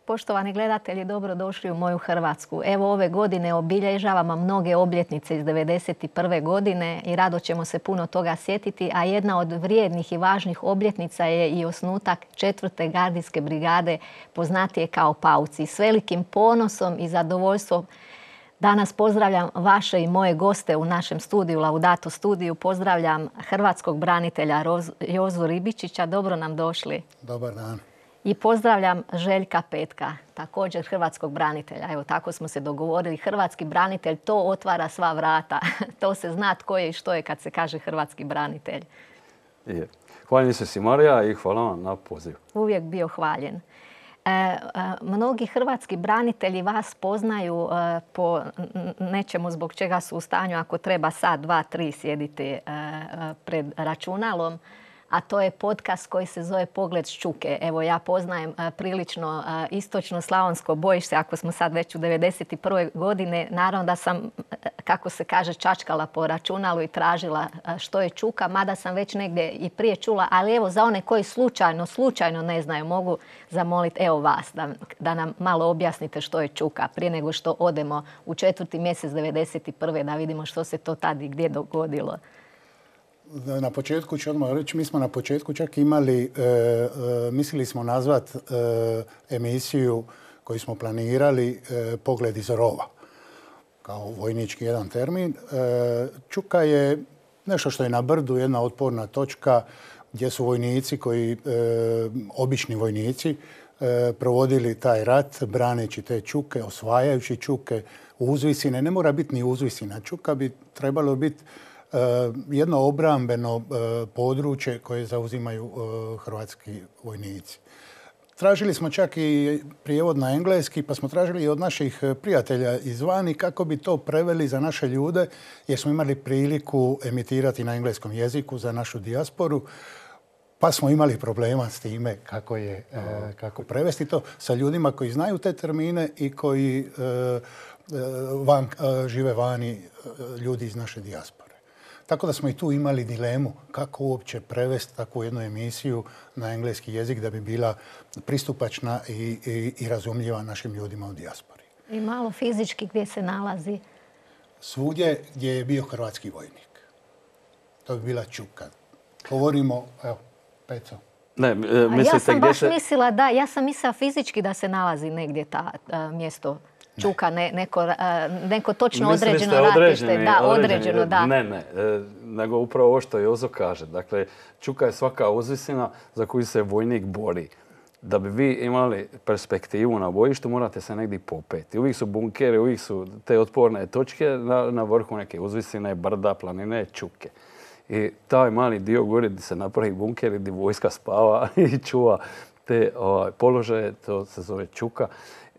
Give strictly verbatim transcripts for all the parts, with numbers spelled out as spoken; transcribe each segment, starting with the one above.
Poštovani gledatelji, dobrodošli u moju Hrvatsku. Evo ove godine obilježavamo mnoge obljetnice iz devedeset prve godine i rado ćemo se puno toga sjetiti, a jedna od vrijednih i važnih obljetnica je i osnutak četvrte gardijske brigade, poznatije kao Pauci. S velikim ponosom i zadovoljstvom danas pozdravljam vaše i moje goste u našem studiju, Laudato studiju. Pozdravljam hrvatskog branitelja Jozu Ribičića. Dobro nam došli. Dobar dan. I pozdravljam Željka Petka, također hrvatskog branitelja. Evo, tako smo se dogovorili. Hrvatski branitelj, to otvara sva vrata. To se zna tko je i što je kad se kaže hrvatski branitelj. Je. Hvaljen se si, Marija, i hvala vam na poziv. Uvijek bio hvaljen. E, e, mnogi hrvatski branitelji vas poznaju e, po nečemu zbog čega su u stanju, ako treba sat, dva, tri sjediti e, pred računalom. A to je podcast koji se zove Pogled s Čuke. Evo, ja poznajem a, prilično a, istočno slavonsko bojište, ako smo sad već u devedeset prve godine. Naravno da sam, kako se kaže, čačkala po računalu i tražila a, što je čuka, mada sam već negdje i prije čula. Ali evo, za one koji slučajno, slučajno ne znaju, mogu zamoliti evo vas da, da nam malo objasnite što je čuka prije nego što odemo u četvrti mjesec devedeset prve da vidimo što se to tad i gdje dogodilo. Na početku ću odmah reći, mi smo na početku čak imali, e, e, mislili smo nazvat e, emisiju koju smo planirali e, Pogled iz rova, kao vojnički jedan termin. E, Čuka je nešto što je na brdu, jedna otporna točka gdje su vojnici koji, e, obični vojnici, e, provodili taj rat braneći te čuke, osvajajući čuke, uzvisine. Ne mora biti ni uzvisina. Čuka bi trebalo biti jedno obrambeno područje koje zauzimaju hrvatski vojnici. Tražili smo čak i prijevod na engleski, pa smo tražili i od naših prijatelja izvani kako bi to preveli za naše ljude, jer smo imali priliku emitirati na engleskom jeziku za našu dijasporu, pa smo imali problema s time kako, je, kako prevesti to sa ljudima koji znaju te termine i koji van, žive vani, ljudi iz naše dijaspore. Tako da smo i tu imali dilemu kako uopće prevesti takvu jednu emisiju na engleski jezik da bi bila pristupačna i, i, i razumljiva našim ljudima u dijaspori. I malo fizički gdje se nalazi? Svugdje gdje je bio hrvatski vojnik. To bi bila Čuka. Govorimo, evo, Peco. Ne, mislite ja sam gdje baš se... mislila da, ja sam mislila fizički da se nalazi negdje ta a, mjesto Čuka, ne, neko, a, neko točno određeno ratište. Da, određeno, da. Ne, ne, e, nego upravo ovo što Jozo kaže. Dakle, Čuka je svaka uzvisina za koju se vojnik bori. Da bi vi imali perspektivu na bojištu, morate se negdje popeti. Uvijek su bunkeri, uvijek su te otporne točke na, na vrhu neke uzvisine, brda, planine, čuke. I taj mali dio gore gdje se napravi bunker i gdje vojska spava i čuva te ovaj, položaje, to se zove Čuka.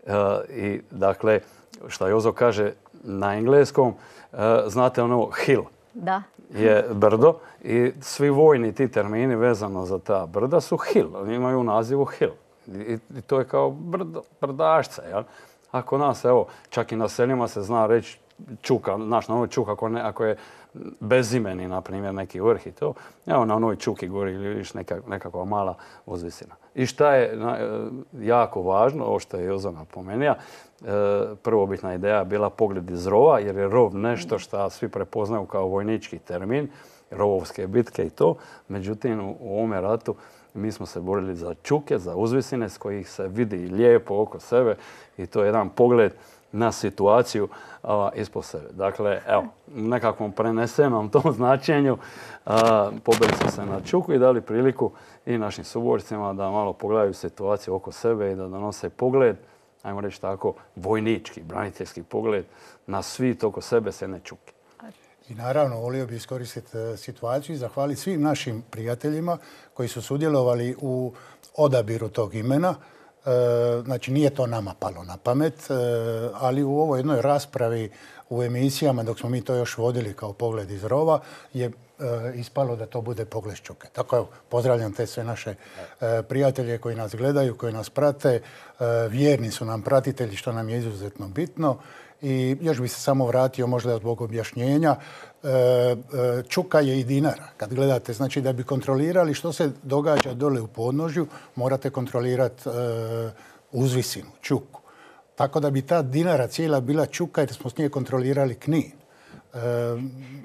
Uh, I dakle, što Jozo kaže na engleskom, uh, znate ono hill. Da. Je brdo i svi vojni ti termini vezano za ta brda su hill. Oni imaju u nazivu hill. I, i to je kao brdo, brdašca. Jel? Ako nas, evo, čak i na seljima se zna reći Čuka, znaš, na ovoj Čuka, ako, ne, ako je bezimeni, na primjer, neki vrh i to, evo na onoj Čuki gori vidiš neka, nekakva mala uzvisina. I šta je na, jako važno, ovo što je Jozo napomenuo, e, prvobitna ideja bila pogled iz rova, jer je rov nešto što svi prepoznaju kao vojnički termin, rovovske bitke i to. Međutim, u, u ovome ratu mi smo se borili za čuke, za uzvisine s kojih se vidi lijepo oko sebe i to je jedan pogled na situaciju a, ispod sebe. Dakle, evo, u nekakvom prenesenom tom značenju pobili smo se na Čuku i dali priliku i našim suborcima da malo pogledaju situaciju oko sebe i da donose pogled, ajmo reći tako, vojnički, braniteljski pogled na svit oko sebe s jedne Čuke. I naravno, volio bi iskoristiti situaciju i zahvaliti svim našim prijateljima koji su sudjelovali u odabiru tog imena. Znači, nije to nama palo na pamet, ali u ovoj jednoj raspravi u emisijama, dok smo mi to još vodili kao Pogled iz rova, je ispalo da to bude Pogled s Čuke. Tako evo, pozdravljam te sve naše prijatelje koji nas gledaju, koji nas prate. Vjerni su nam pratitelji, što nam je izuzetno bitno. I još bi se samo vratio možda zbog objašnjenja. Čuka je i Dinara. Kad gledate, znači da bi kontrolirali što se događa dole u podnožju, morate kontrolirati uzvisinu, čuku. Tako da bi ta Dinara cijela bila čuka jer smo s nje kontrolirali Knin. E,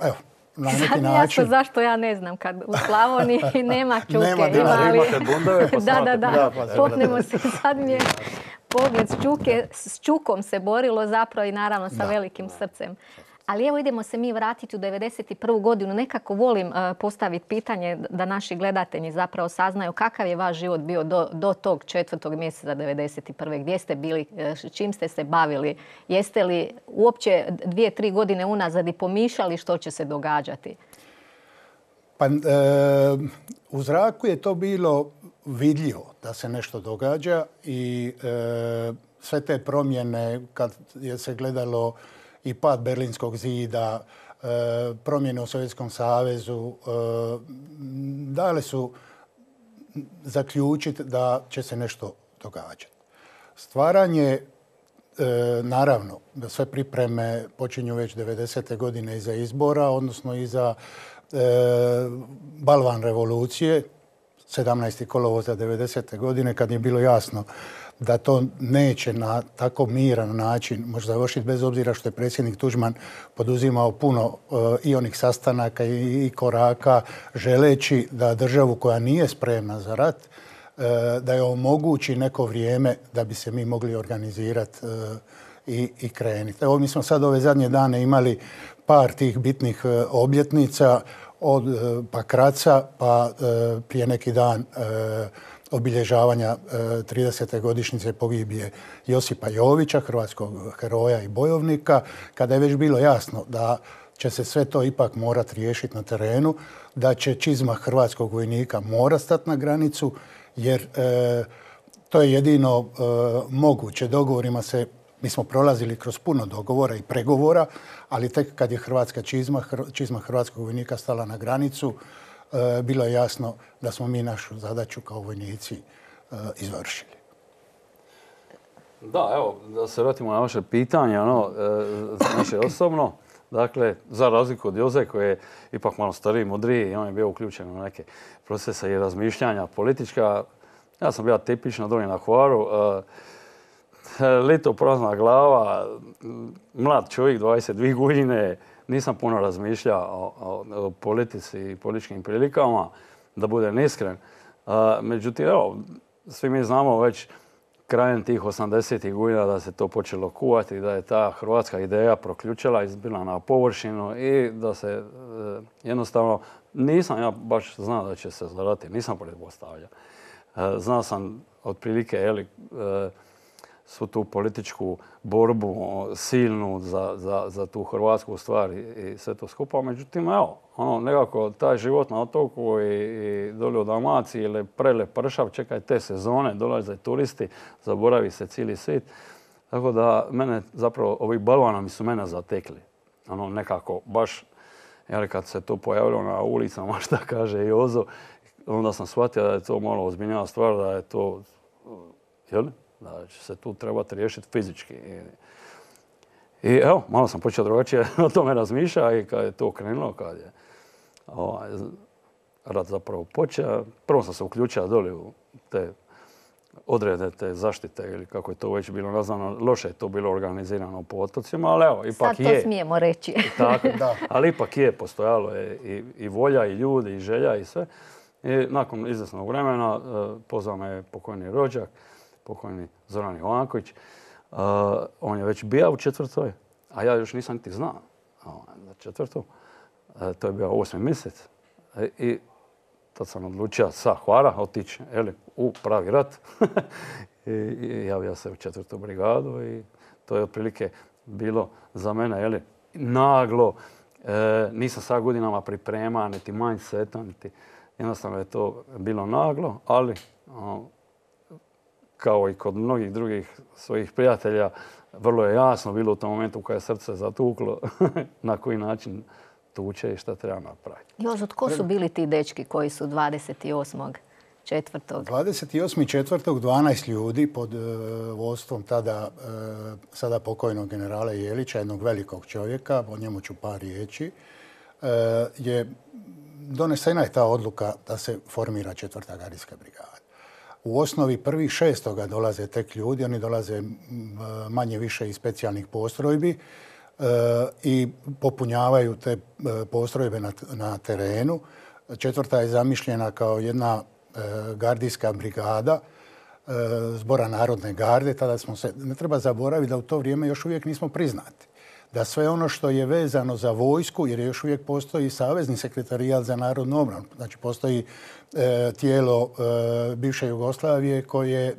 evo, na neki sad način... Jasno zašto ja ne znam kad u Slavoniji nema čuke. Nema Dinara. Ali... Imate bundeve pa da, da, da. Da, pa Popnemo se sad mi je pogled s čuke. S čukom se borilo zapravo i naravno sa Da. velikim srcem. Ali evo idemo se mi vratiti u devedeset prvu godinu. Nekako volim uh, postaviti pitanje da naši gledatelji zapravo saznaju kakav je vaš život bio do, do tog četvrtog mjeseca devedeset prve. Gdje ste bili, čim ste se bavili? Jeste li uopće dvije, tri godine unazad i pomišljali što će se događati? Pa, e, u zraku je to bilo vidljivo da se nešto događa i e, sve te promjene kad je se gledalo i pad Berlinskog zida, e, promjene u Sovjetskom savezu, e, dale su zaključiti da će se nešto događati. Stvaranje, e, naravno, da sve pripreme počinju već devedesete godine iza izbora, odnosno iza e, balvan revolucije, sedamnaestog kolovoza devedesete godine, kad je bilo jasno da to neće na tako miran način može završiti, bez obzira što je predsjednik Tuđman poduzimao puno uh, i onih sastanaka i, i koraka, želeći da državu koja nije spremna za rat, uh, da je omogući neko vrijeme da bi se mi mogli organizirati uh, i, i krenuti. Evo, mi smo sad ove zadnje dane imali par tih bitnih uh, obljetnica, od uh, Pakraca pa uh, prije neki dan uh, obilježavanja tridesete godišnjice pogibije Josipa Jovića, hrvatskog heroja i bojovnika, kada je već bilo jasno da će se sve to ipak morati riješiti na terenu, da će čizma hrvatskog vojnika mora stati na granicu, jer e, to je jedino e, moguće. Dogovorima se, mi smo prolazili kroz puno dogovora i pregovora, ali tek kad je hrvatska čizma, hr, čizma hrvatskog vojnika stala na granicu, bilo je jasno da smo mi našu zadaću kao vojnici izvršili. Da, evo, da se vratimo na vaše pitanje, ono, naše osobno. Dakle, za razliku od Joze koji je ipak malo stariji, mudriji i on je bio uključen u neke procese i razmišljanja politička. Ja sam bio tipično dolje na Hvaru. Lito prazna glava, mlad čovjek, dvadeset dvije godine. Nisam puno razmišljao o, o, o politici i političkim prilikama, da budem iskren. A, međutim, evo, svi mi znamo već krajem tih osamdesetih godina da se to počelo kuvati, da je ta hrvatska ideja proključila, izbila na površinu i da se e, jednostavno, nisam ja baš znao da će se zarati, nisam pretpostavljao. E, znao sam otprilike, jeli, e, svu tu političku borbu silnu za, za, za tu hrvatsku stvar i, i sve to skupa. Međutim, evo, ono, nekako taj život na otoku i, i dolje u Dalmaciji ili prele pršav, čekaj te sezone, dolaze turisti, zaboravi se cijeli svijet. Tako da mene zapravo, ovi balvanovi su mene zatekli. Ono, nekako baš, jer kad se to pojavilo na ulicama, šta kaže Jozo, onda sam shvatio da je to malo ozbiljnija stvar, da je to, jel? Da će se tu trebati riješiti fizički. I, i evo, malo sam počeo drugačije o tome razmišljati i kad je to krenulo, kad je ovaj, rat zapravo počeo, prvo sam se uključio dolje u te odrede, te zaštite ili kako je to već bilo nazvano, loše je to bilo organizirano po otocima, ali evo, ipak je. Sad to smijemo reći. Tako, da. Ali ipak je, postojalo je i, i volja, i ljudi, i želja, i sve. I nakon izvjesnog vremena pozvao me pokojni rođak, pokojni Zoran Jovanković. Uh, on je već bio u četvrtoj, a ja još nisam niti znao za četvrtu. Uh, to je bio osmi mjesec. E, I tad sam odlučio sa Hvara otići u pravi rat. I, I javio se u četvrtu brigadu i to je otprilike bilo za mene jeli, naglo. E, nisam sad godinama priprema, niti mindseta, niti jednostavno je to bilo naglo, ali uh, kao i kod mnogih drugih svojih prijatelja, vrlo je jasno bilo u tom momentu kada je srce zatuklo na koji način tuče i šta treba napraviti. Jozo, tko su bili ti dečki koji su dvadeset osmog četvrtog dvadeset osmog četvrtog dvanaest ljudi pod uh, vodstvom tada uh, sada pokojnog generala Jelića, jednog velikog čovjeka, o njemu ću par riječi, uh, je donesena je ta odluka da se formira četvrta gardijska brigada. u osnovi prvih šestoga dolaze tek ljudi, oni dolaze manje više iz specijalnih postrojbi i popunjavaju te postrojbe na, na terenu. Četvrta je zamišljena kao jedna gardijska brigada Zbora narodne garde. Tada smo se, ne treba zaboraviti da u to vrijeme još uvijek nismo priznati. Da sve ono što je vezano za vojsku, jer još uvijek postoji Savezni sekretarijat za narodnu obranu, znači postoji e, tijelo e, bivše Jugoslavije koje e,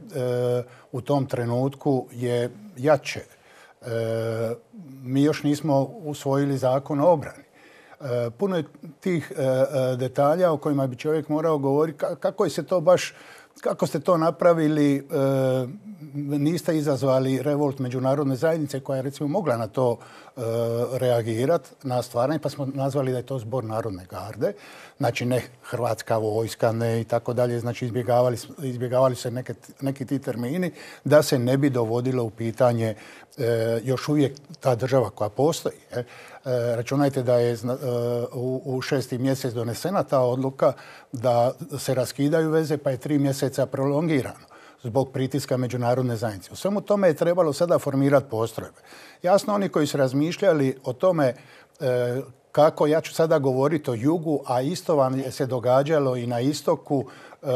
u tom trenutku je jače. E, mi još nismo usvojili zakon o obrani. E, puno je tih e, detalja o kojima bi čovjek morao govoriti kako je se to baš, kako ste to napravili, e, niste izazvali revolt međunarodne zajednice koja je recimo mogla na to e, reagirati, na stvaranje, pa smo nazvali da je to Zbor narodne garde. Znači ne Hrvatska vojska, ne i tako dalje. Znači izbjegavali, izbjegavali se neke, neki ti termini da se ne bi dovodilo u pitanje e, još uvijek ta država koja postoji. E. E, računajte da je e, u, u šesti mjesec donesena ta odluka da se raskidaju veze, pa je tri mjeseca prolongirano zbog pritiska međunarodne zajednice. U svemu tome je trebalo sada formirati postrojbe. Jasno, oni koji su razmišljali o tome e, kako, ja ću sada govoriti o jugu, a isto vam je se događalo i na istoku. E,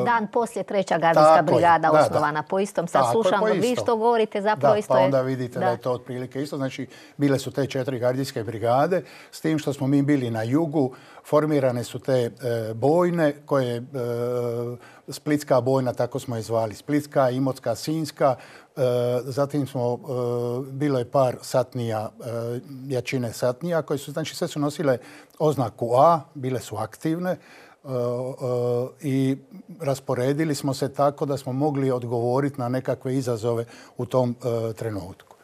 Dan poslije treća gardijska brigada je, da, osnovana da. po istom. Sad tako slušamo, po vi što govorite zapravo da, isto pa je... onda vidite da. da je to otprilike isto. Znači, bile su te četiri gardijske brigade, s tim što smo mi bili na jugu, formirane su te e, bojne, koje e, Splitska bojna, tako smo je zvali, Splitska, Imotska, Sinjska, e, zatim smo, e, bilo je par satnija, e, jačine satnija, koje su, znači sve su nosile oznaku A, bile su aktivne, Uh, uh, i rasporedili smo se tako da smo mogli odgovoriti na nekakve izazove u tom uh, trenutku.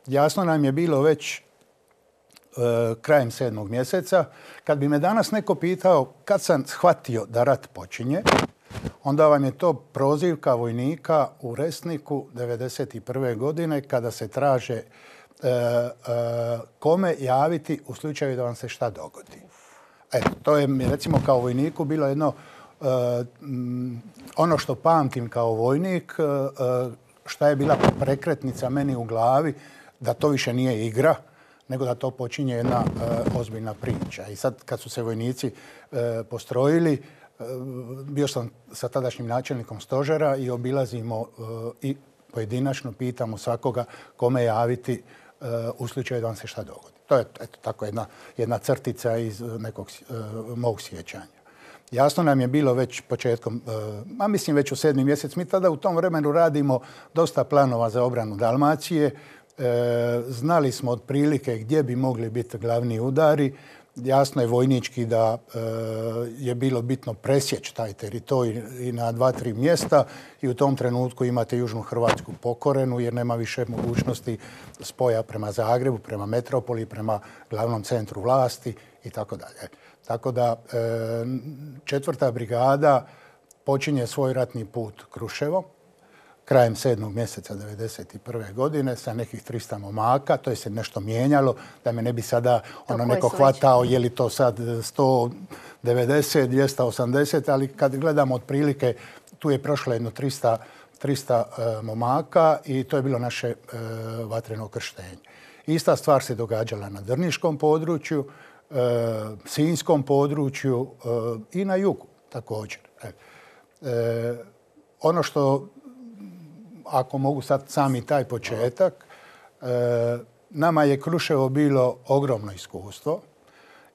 Jasno nam je bilo već uh, krajem sedmog mjeseca. Kad bi me danas neko pitao kad sam shvatio da rat počinje, onda vam je to prozivka vojnika u Resniku devedeset prve godine kada se traže uh, uh, kome javiti u slučaju da vam se šta dogodi. Eto, to je mi recimo kao vojniku bilo jedno, uh, ono što pamtim kao vojnik, uh, šta je bila prekretnica meni u glavi, da to više nije igra, nego da to počinje jedna uh, ozbiljna priča. I sad kad su se vojnici uh, postrojili, uh, bio sam sa tadašnjim načelnikom stožera i obilazimo uh, i pojedinačno pitamo svakoga kome javiti uh, u slučaju da vam se šta dogodi. To je eto, tako jedna, jedna crtica iz nekog uh, mog sjećanja. Jasno nam je bilo već početkom, uh, a mislim već u sedmi mjesec, mi tada u tom vremenu radimo dosta planova za obranu Dalmacije. Uh, znali smo otprilike gdje bi mogli biti glavni udari. Jasno je vojnički da e, je bilo bitno presjeći taj teritorij i na dva, tri mjesta i u tom trenutku imate Južnu Hrvatsku pokorenu jer nema više mogućnosti spoja prema Zagrebu, prema metropoli, prema glavnom centru vlasti i tako dalje. Tako da e, četvrta brigada počinje svoj ratni put Kruševom krajem sedmog mjeseca devedeset prve godine sa nekih trista momaka. To je se nešto mijenjalo, da me ne bi sada ono neko hvatao je li to sad sto devedeset, dvjesto osamdeset, ali kad gledamo otprilike, tu je prošlo jedno trista, trista uh, momaka i to je bilo naše uh, vatreno krštenje. Ista stvar se događala na Drniškom području, uh, Sinjskom području uh, i na jugu također. Uh, ono što ako mogu sad sami taj početak, e, nama je Kruševo bilo ogromno iskustvo.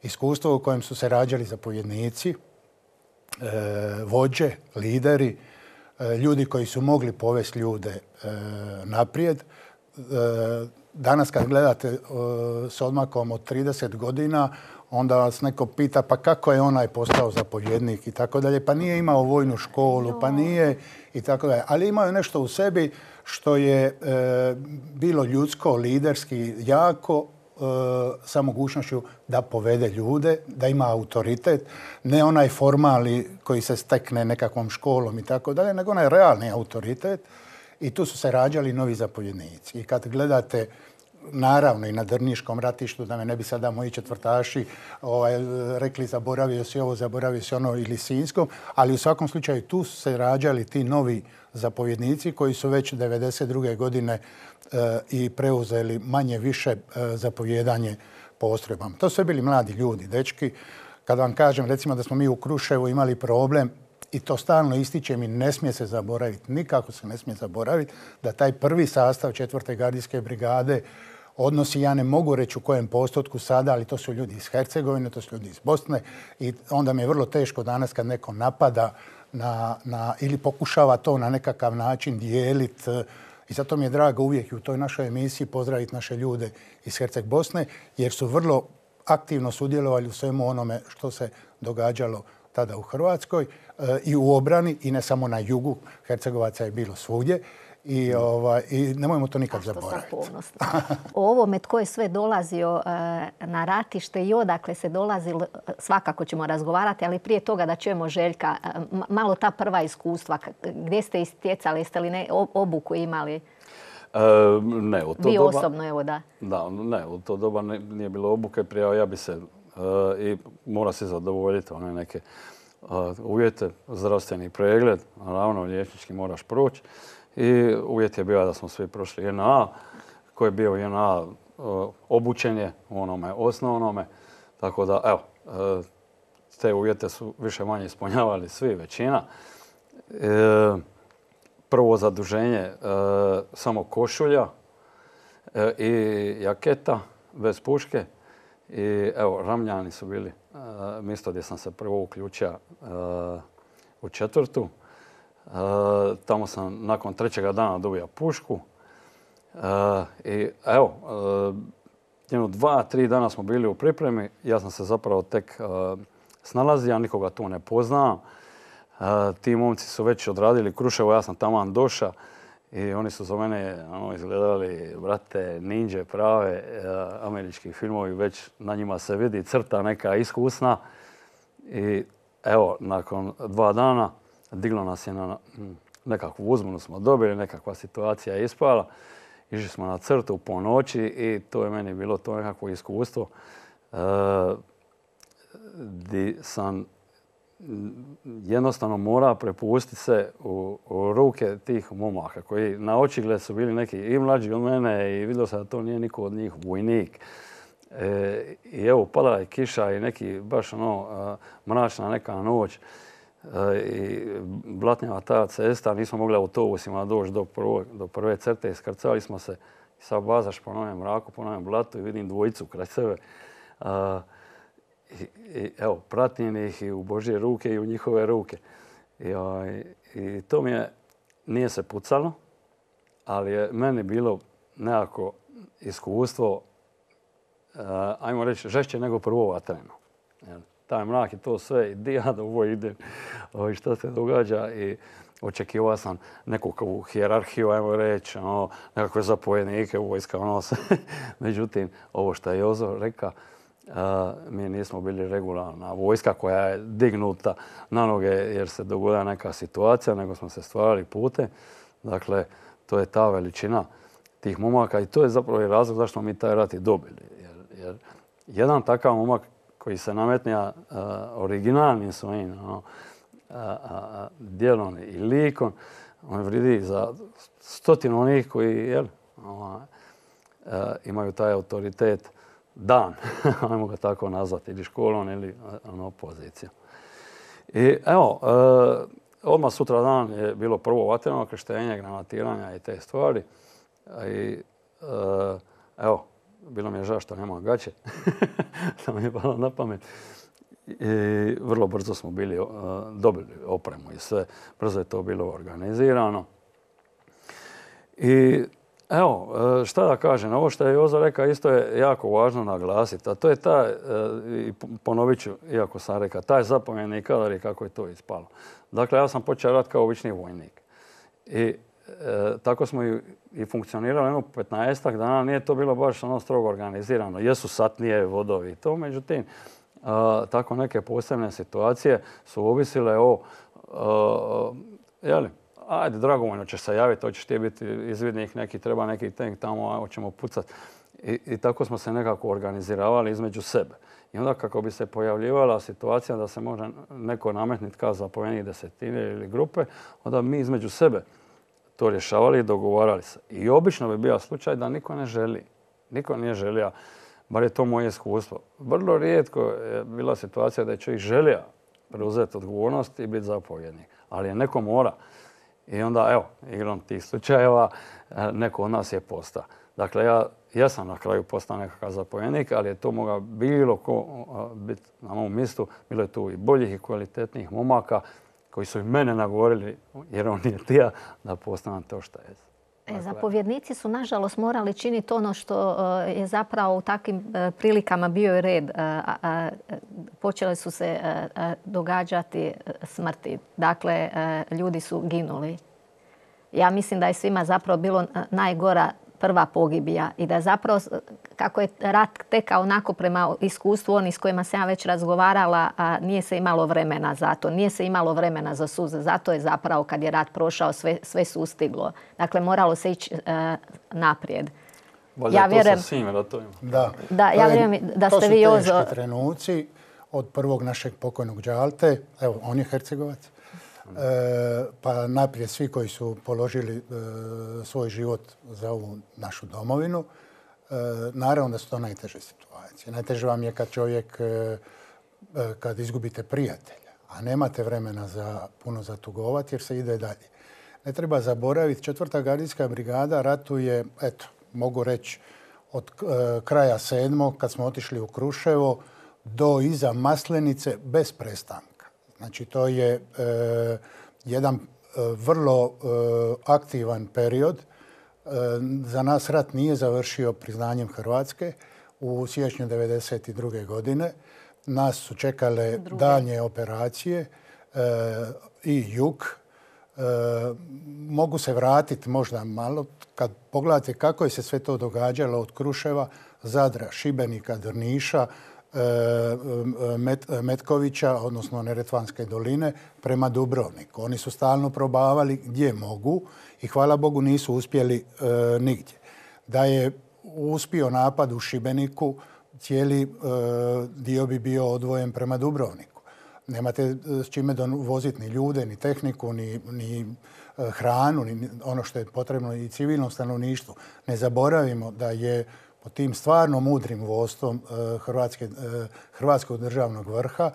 Iskustvo u kojem su se rađali zapovjednici, e, vođe, lideri, e, ljudi koji su mogli povesti ljude e, naprijed. E, danas kad gledate e, s odmakom od trideset godina, onda vas neko pita pa kako je onaj postao zapovjednik i tako dalje. Pa nije imao vojnu školu, pa nije i tako dalje. Ali imao je nešto u sebi što je e, bilo ljudsko, liderski, jako, e, sa mogućnošću da povede ljude, da ima autoritet. Ne onaj formalni koji se stekne nekakvom školom i tako dalje, nego onaj realni autoritet. I tu su se rađali novi zapovjednici. I kad gledate naravno i na Drniškom ratištu, da me ne bi sada moji četvrtaši ovaj, rekli zaboravio si ovo, zaboravio si ono ili Sinjskom, ali u svakom slučaju tu su se rađali ti novi zapovjednici koji su već devedeset druge godine e, i preuzeli manje više e, zapovjedanje postrojbama. To su sve bili mladi ljudi, dečki. Kad vam kažem recimo da smo mi u Kruševu imali problem, i to stalno ističem i ne smije se zaboraviti, nikako se ne smije zaboraviti, da taj prvi sastav četvrte gardijske brigade odnosi, ja ne mogu reći u kojem postotku sada, ali to su ljudi iz Hercegovine, to su ljudi iz Bosne i onda mi je vrlo teško danas kad neko napada na, na, ili pokušava to na nekakav način dijeliti. I zato mi je drago uvijek i u toj našoj emisiji pozdraviti naše ljude iz Herceg Bosne, jer su vrlo aktivno sudjelovali u svemu onome što se događalo tada u Hrvatskoj e, i u obrani, i ne samo na jugu. Hercegovaca je bilo svugdje. I, ovaj, i nemojmo to nikad zaboraviti. O ovome tko je sve dolazio e, na ratište i odakle se dolazilo, svakako ćemo razgovarati, ali prije toga da čujemo Željka, e, malo ta prva iskustva, gdje ste istjecali, jeste li ne, obuku imali? E, ne, u to Vi doba, osobno, evo da. Da, ne, u to doba ne, nije bilo obuke, prije ja bi se e, i mora se zadovoljiti one neke e, uvjete, zdravstveni pregled, naravno liječnički moraš proći. I uvjet je bio da smo svi prošli J N A, koji je bio J N A obučen je u onome osnovnome. Tako da, evo, te uvjete su više manje ispunjavali svi, većina. Prvo zaduženje, samo košulja i jaketa bez puške. I evo, Ramljani su bili mjesto gdje sam se prvo uključio u četvrtu. Uh, tamo sam nakon trećega dana dobio pušku. Uh, I evo, uh, jedno dva, tri dana smo bili u pripremi. Ja sam se zapravo tek uh, snalazio, ja nikoga tu ne poznam. Uh, ti momci su već odradili Kruševo, ja sam taman došao i oni su za mene ono, izgledali, brate, ninđe prave, uh, američki filmovi, već na njima se vidi crta neka iskusna. I evo, nakon dva dana diglo nas je na nekakvu uzbunu, smo dobili, nekakva situacija je ispala. Išli smo na crtu po noći i to je meni bilo to nekakvo iskustvo e, gdje sam jednostavno morao prepustiti se u, u ruke tih momaka koji na očigled su bili neki i mlađi od mene i vidio sam da to nije niko od njih vojnik. E, I evo, padala je kiša i neki baš ono mračna neka noć. I blatnjava ta cesta, nismo mogli autobusima doći do, prvo, do prve crte, iskrcali smo se i sad bazaš po novem mraku, po novem blatu i vidim dvojicu kraj sebe. Uh, i, i, evo, pratim ih i u Božje ruke i u njihove ruke. I, ovaj, i to mi je, nije se pucalo, ali je meni bilo nekako iskustvo, uh, ajmo reći, žešće nego prvo vatreno. Taj mrak i to sve, i di ja da ovo idem, i što se događa. I očekivao sam neku hijerarhiju, ajmo reći, ono, nekakve zapovjednike u vojska, ono se. Međutim, ovo što je Jozo rekao, mi nismo bili regularna vojska koja je dignuta na noge jer se dogodila neka situacija, nego smo se stvarali pute. Dakle, to je ta veličina tih momaka i to je zapravo i razlog zašto mi taj rat i dobili. Jer, jer jedan takav momak koji se nametnija uh, originalnim svojim ono, uh, uh, djelom i likom, on vridi za stotinu onih koji jel, uh, uh, imaju taj autoritet dan, ajmo ga tako nazvati, ili školom ili ono, pozicijom. I evo, uh, odmah sutra dan je bilo prvo vatreno krštenje, granatiranja i te stvari. I uh, evo, bilo mi je žao što nema gaće, to mi je palo na pamet. I vrlo brzo smo bili, uh, dobili opremu i sve. Brzo je to bilo organizirano. I evo, šta da kažem, ovo što je Jozo rekao isto je jako važno naglasiti, a to je taj, i ponovit ću, iako sam rekao, taj zapovjedni kadar i kako je to ispalo. Dakle, ja sam počeo rat kao obični vojnik. I e, tako smo i, i funkcionirali jedno petnaestak dana, nije to bilo baš ono strogo organizirano. Jesu satnije, vodovi i to, međutim, a, tako neke posebne situacije su ovisile o, a, jeli, ajde, dragovoljno ćeš se javiti, hoćeš ti biti izvidnik neki, treba neki tank tamo, hoćemo pucati. I, I tako smo se nekako organiziravali između sebe. I onda kako bi se pojavljivala situacija da se može neko nametniti kao zapovjednik desetine ili grupe, onda mi između sebe to rješavali i dogovarali se. I obično bi bio slučaj da niko ne želi. Niko nije želio, bar je to moje iskustvo. Vrlo rijetko je bila situacija da je čovjek želio preuzeti odgovornost i biti zapovjednik. Ali je neko mora. I onda, evo, igrom tih slučajeva, neko od nas je postao. Dakle, ja, ja sam na kraju postao nekakav zapovjednik, ali je to mogao bilo ko biti na mom mjestu. Bilo je tu i boljih i kvalitetnijih momaka koji su i mene nagovorili, jer on je tija, da postanem to što je. E, zapovjednici su, nažalost, morali činiti ono što je zapravo u takvim prilikama bio i red. Počele su se događati smrti. Dakle, ljudi su ginuli. Ja mislim da je svima zapravo bilo najgora prva pogibija i da zapravo kako je rat tekao onako prema iskustvu onih s kojima sam ja već razgovarala, a nije se imalo vremena za to, nije se imalo vremena za suze. Zato je zapravo kad je rat prošao sve, sve sustiglo. Dakle, moralo se ići uh, naprijed. Bolje ja vjerujem, to sa svim ratovima. Da, da, ja vjerujem da ste vi Jozo... To su teški trenuci od prvog našeg pokojnog Đalte, evo, on je Hercegovac, E, pa naprijed svi koji su položili e, svoj život za ovu našu domovinu. E, naravno da su to najteže situacije. Najteže vam je kad čovjek, e, kad izgubite prijatelja, a nemate vremena za puno zatugovati jer se ide dalje. Ne treba zaboraviti, četvrta gardijska brigada ratuje, eto, mogu reći, od e, kraja sedmog kad smo otišli u Kruševo do iza Maslenice bez prestanka. Znači, to je e, jedan e, vrlo e, aktivan period. E, za nas rat nije završio priznanjem Hrvatske u siječnju devedeset druge. godine. Nas su čekale Druge. daljnje operacije e, i jug. E, mogu se vratiti možda malo kad pogledate kako je se sve to događalo od Kruševa, Zadra, Šibenika, Drniša, Met, Metkovića, odnosno Neretvanske doline, prema Dubrovniku. Oni su stalno probavali gdje mogu i hvala Bogu nisu uspjeli e, nigdje. Da je uspio napad u Šibeniku, cijeli e, dio bi bio odvojen prema Dubrovniku. Nemate s čime voziti ni ljude, ni tehniku, ni, ni hranu, ni ono što je potrebno i civilnom stanovništvu. Ne zaboravimo da je pod tim stvarno mudrim vodstvom Hrvatske, Hrvatskog državnog vrha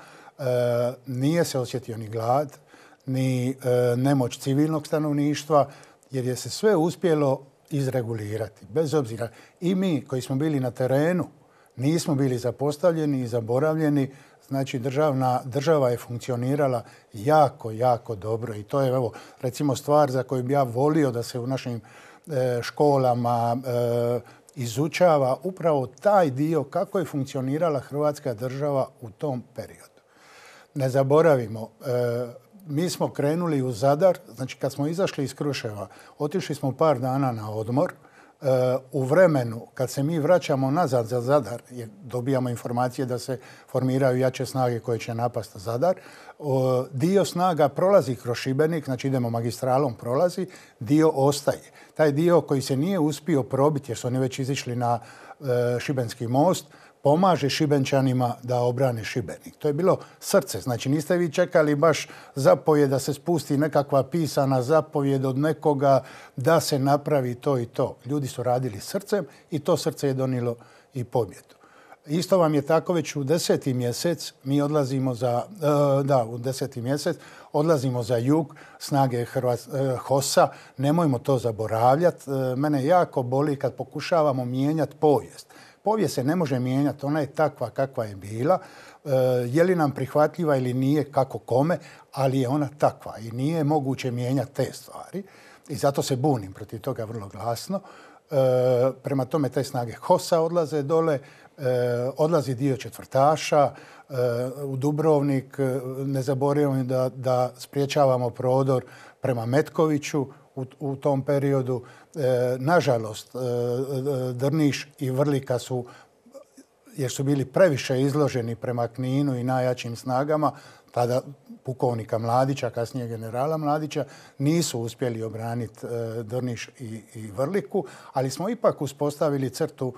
nije se osjetio ni glad, ni nemoć civilnog stanovništva, jer je se sve uspjelo izregulirati. Bez obzira, i mi koji smo bili na terenu nismo bili zapostavljeni i zaboravljeni. Znači, državna, država je funkcionirala jako, jako dobro. I to je, evo, recimo, stvar za koju bi ja volio da se u našim e, školama e, izučava upravo taj dio kako je funkcionirala Hrvatska država u tom periodu. Ne zaboravimo, e, mi smo krenuli u Zadar, znači kad smo izašli iz Kruševa, otišli smo par dana na odmor. E, u vremenu kad se mi vraćamo nazad za Zadar, jer dobijamo informacije da se formiraju jače snage koje će napasti Zadar, o, dio snaga prolazi kroz Šibenik, znači idemo magistralom, prolazi, dio ostaje. Taj dio koji se nije uspio probiti, jer su oni već izišli na e, Šibenski most, pomaže Šibenčanima da obrane Šibenik. To je bilo srce. Znači, niste vi čekali baš zapovjed da se spusti nekakva pisana zapovjed od nekoga da se napravi to i to. Ljudi su radili srcem i to srce je donijelo i pobjedu. Isto vam je tako već u deseti mjesec, mi odlazimo za, da, u deseti mjesec, odlazimo za jug, snage Hrvats, HOS-a. Nemojmo to zaboravljati. Mene jako boli kad pokušavamo mijenjati povijest. Povijest se ne može mijenjati, ona je takva kakva je bila. E, je li nam prihvatljiva ili nije, kako kome, ali je ona takva i nije moguće mijenjati te stvari. I zato se bunim protiv toga vrlo glasno. E, prema tome te snage HOS-a odlaze dole, e, odlazi dio četvrtaša e, u Dubrovnik. Ne zaboravimo da, da spriječavamo prodor prema Metkoviću u, u tom periodu. E, nažalost, e, Drniš i Vrlika su jer su bili previše izloženi prema Kninu i najjačim snagama, tada pukovnika Mladića, kasnije generala Mladića, nisu uspjeli obraniti Drniš i, i Vrliku, ali smo ipak uspostavili crtu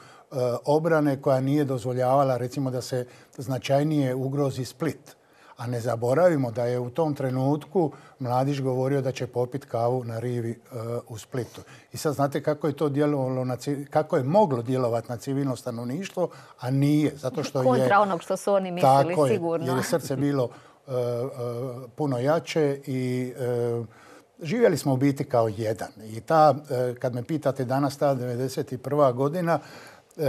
obrane koja nije dozvoljavala, recimo, da se značajnije ugrozi Split. A ne zaboravimo da je u tom trenutku Mladić govorio da će popiti kavu na rivi u Splitu. I sad znate kako je to djelovalo, na, kako je moglo djelovati na civilno stanovništvo, a nije. Zato što je, kontra onog što su oni mislili, tako sigurno. Je, jer je srce bilo uh, uh, puno jače i uh, živjeli smo u biti kao jedan. I ta, uh, kad me pitate danas, ta devedeset prva godina, uh,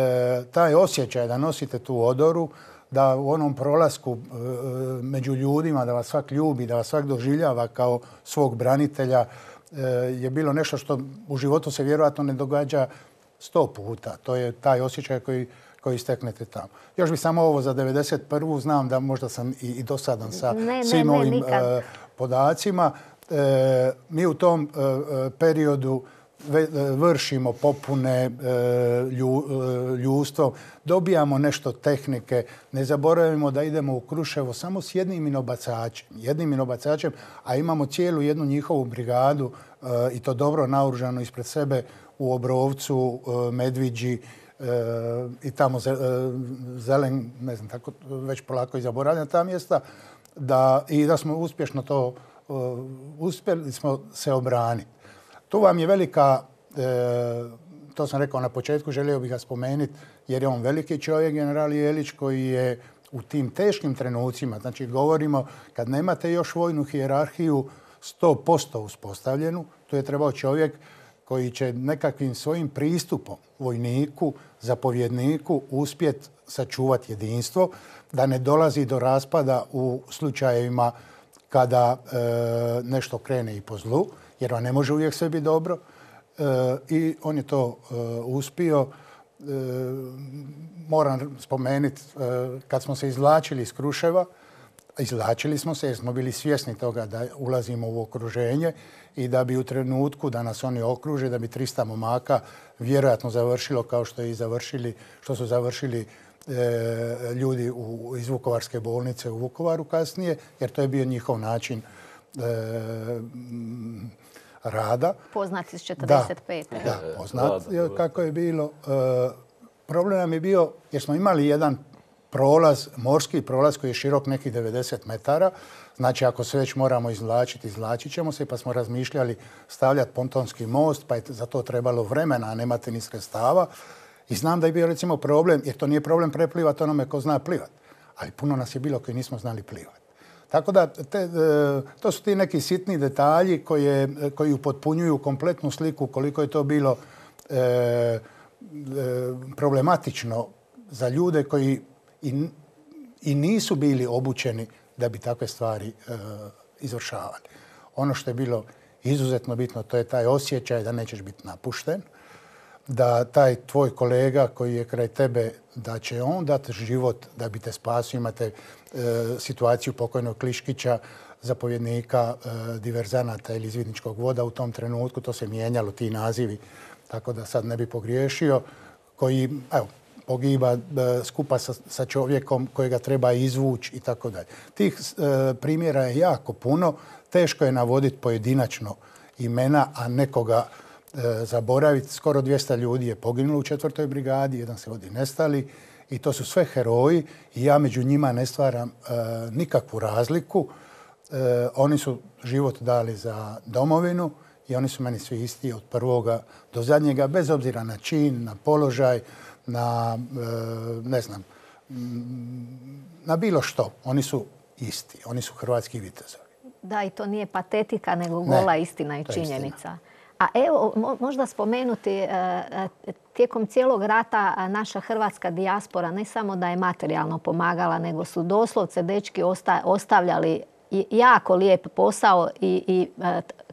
taj osjećaj da nosite tu odoru, da u onom prolasku e, među ljudima, da vas svak ljubi, da vas svak doživljava kao svog branitelja, e, je bilo nešto što u životu se vjerojatno ne događa sto puta. To je taj osjećaj koji, koji steknete tamo. Još bi samo ovo za devedeset prvu znam da možda sam i, i dosadan sa ne, svim ne, ne, ovim nikad. e, podacima. E, mi u tom e, periodu vršimo popune ljudstvom, dobijamo nešto tehnike. Ne zaboravimo da idemo u Kruševo samo s jednim minobacačem, jednim minobacačem, a imamo cijelu jednu njihovu brigadu i to dobro naoružano ispred sebe u Obrovcu, Medviđi i tamo Zelen, ne znam, tako već polako i zaboravljam ta mjesta, da, i da smo uspješno to, uspjeli smo se obraniti. Tu vam je velika, e, to sam rekao na početku, želio bih ga spomenuti, jer je on veliki čovjek, general Jelić, koji je u tim teškim trenucima, znači govorimo kad nemate još vojnu hijerarhiju sto posto uspostavljenu, tu je trebao čovjek koji će nekakvim svojim pristupom vojniku, zapovjedniku uspjeti sačuvati jedinstvo, da ne dolazi do raspada u slučajevima kada e, nešto krene i po zlu, jer on ne može uvijek sve biti dobro. E, I on je to e, uspio. E, moram spomenuti, e, kad smo se izvlačili iz Kruševa, izvlačili smo se jer smo bili svjesni toga da ulazimo u okruženje i da bi u trenutku da nas oni okruže, da bi trista momaka vjerojatno završilo kao što, je i završili, što su završili e, ljudi u, iz Vukovarske bolnice u Vukovaru kasnije, jer to je bio njihov način e, rada. Poznat iz četrdeset pete. Da, da, poznat kako je bilo. E, problem nam je bio jer smo imali jedan prolaz, morski prolaz koji je širok nekih devedeset metara. Znači, ako se već moramo izvlačiti, izvlačit ćemo se, pa smo razmišljali stavljati pontonski most, pa je za to trebalo vremena, a nemate ni sredstava. I znam da je bio recimo problem, jer to nije problem preplivati onome ko zna plivati, ali puno nas je bilo koji nismo znali plivati. Tako da, te, to su ti neki sitni detalji koje, koji upotpunjuju kompletnu sliku koliko je to bilo e, e, problematično za ljude koji i, i nisu bili obučeni da bi takve stvari e, izvršavali. Ono što je bilo izuzetno bitno, to je taj osjećaj da nećeš biti napušten, da taj tvoj kolega koji je kraj tebe, da će on dati život da bi te spasio. Imate e, situaciju pokojnog Kliškića, zapovjednika e, diverzanata ili izvidničkog voda u tom trenutku. To se mijenjalo, ti nazivi, tako da sad ne bi pogriješio, koji evo, pogiba e, skupa sa, sa čovjekom kojega treba izvući i tako dalje. Tih e, primjera je jako puno. Teško je navoditi pojedinačno imena, a nekoga zaboraviti. Skoro dvjesto ljudi je poginulo u četvrtoj brigadi, jedan se vodi nestali i to su sve heroji i ja među njima ne stvaram e, nikakvu razliku. E, oni su život dali za domovinu i oni su meni svi isti od prvoga do zadnjega, bez obzira na čin, na položaj, na e, ne znam, na bilo što. Oni su isti, oni su hrvatski vitezovi. Da, i to nije patetika, nego gola ne, istina i činjenica. Istina. A evo, možda spomenuti, tijekom cijelog rata naša hrvatska dijaspora ne samo da je materijalno pomagala, nego su doslovce dečki ostavljali jako lijep posao i, i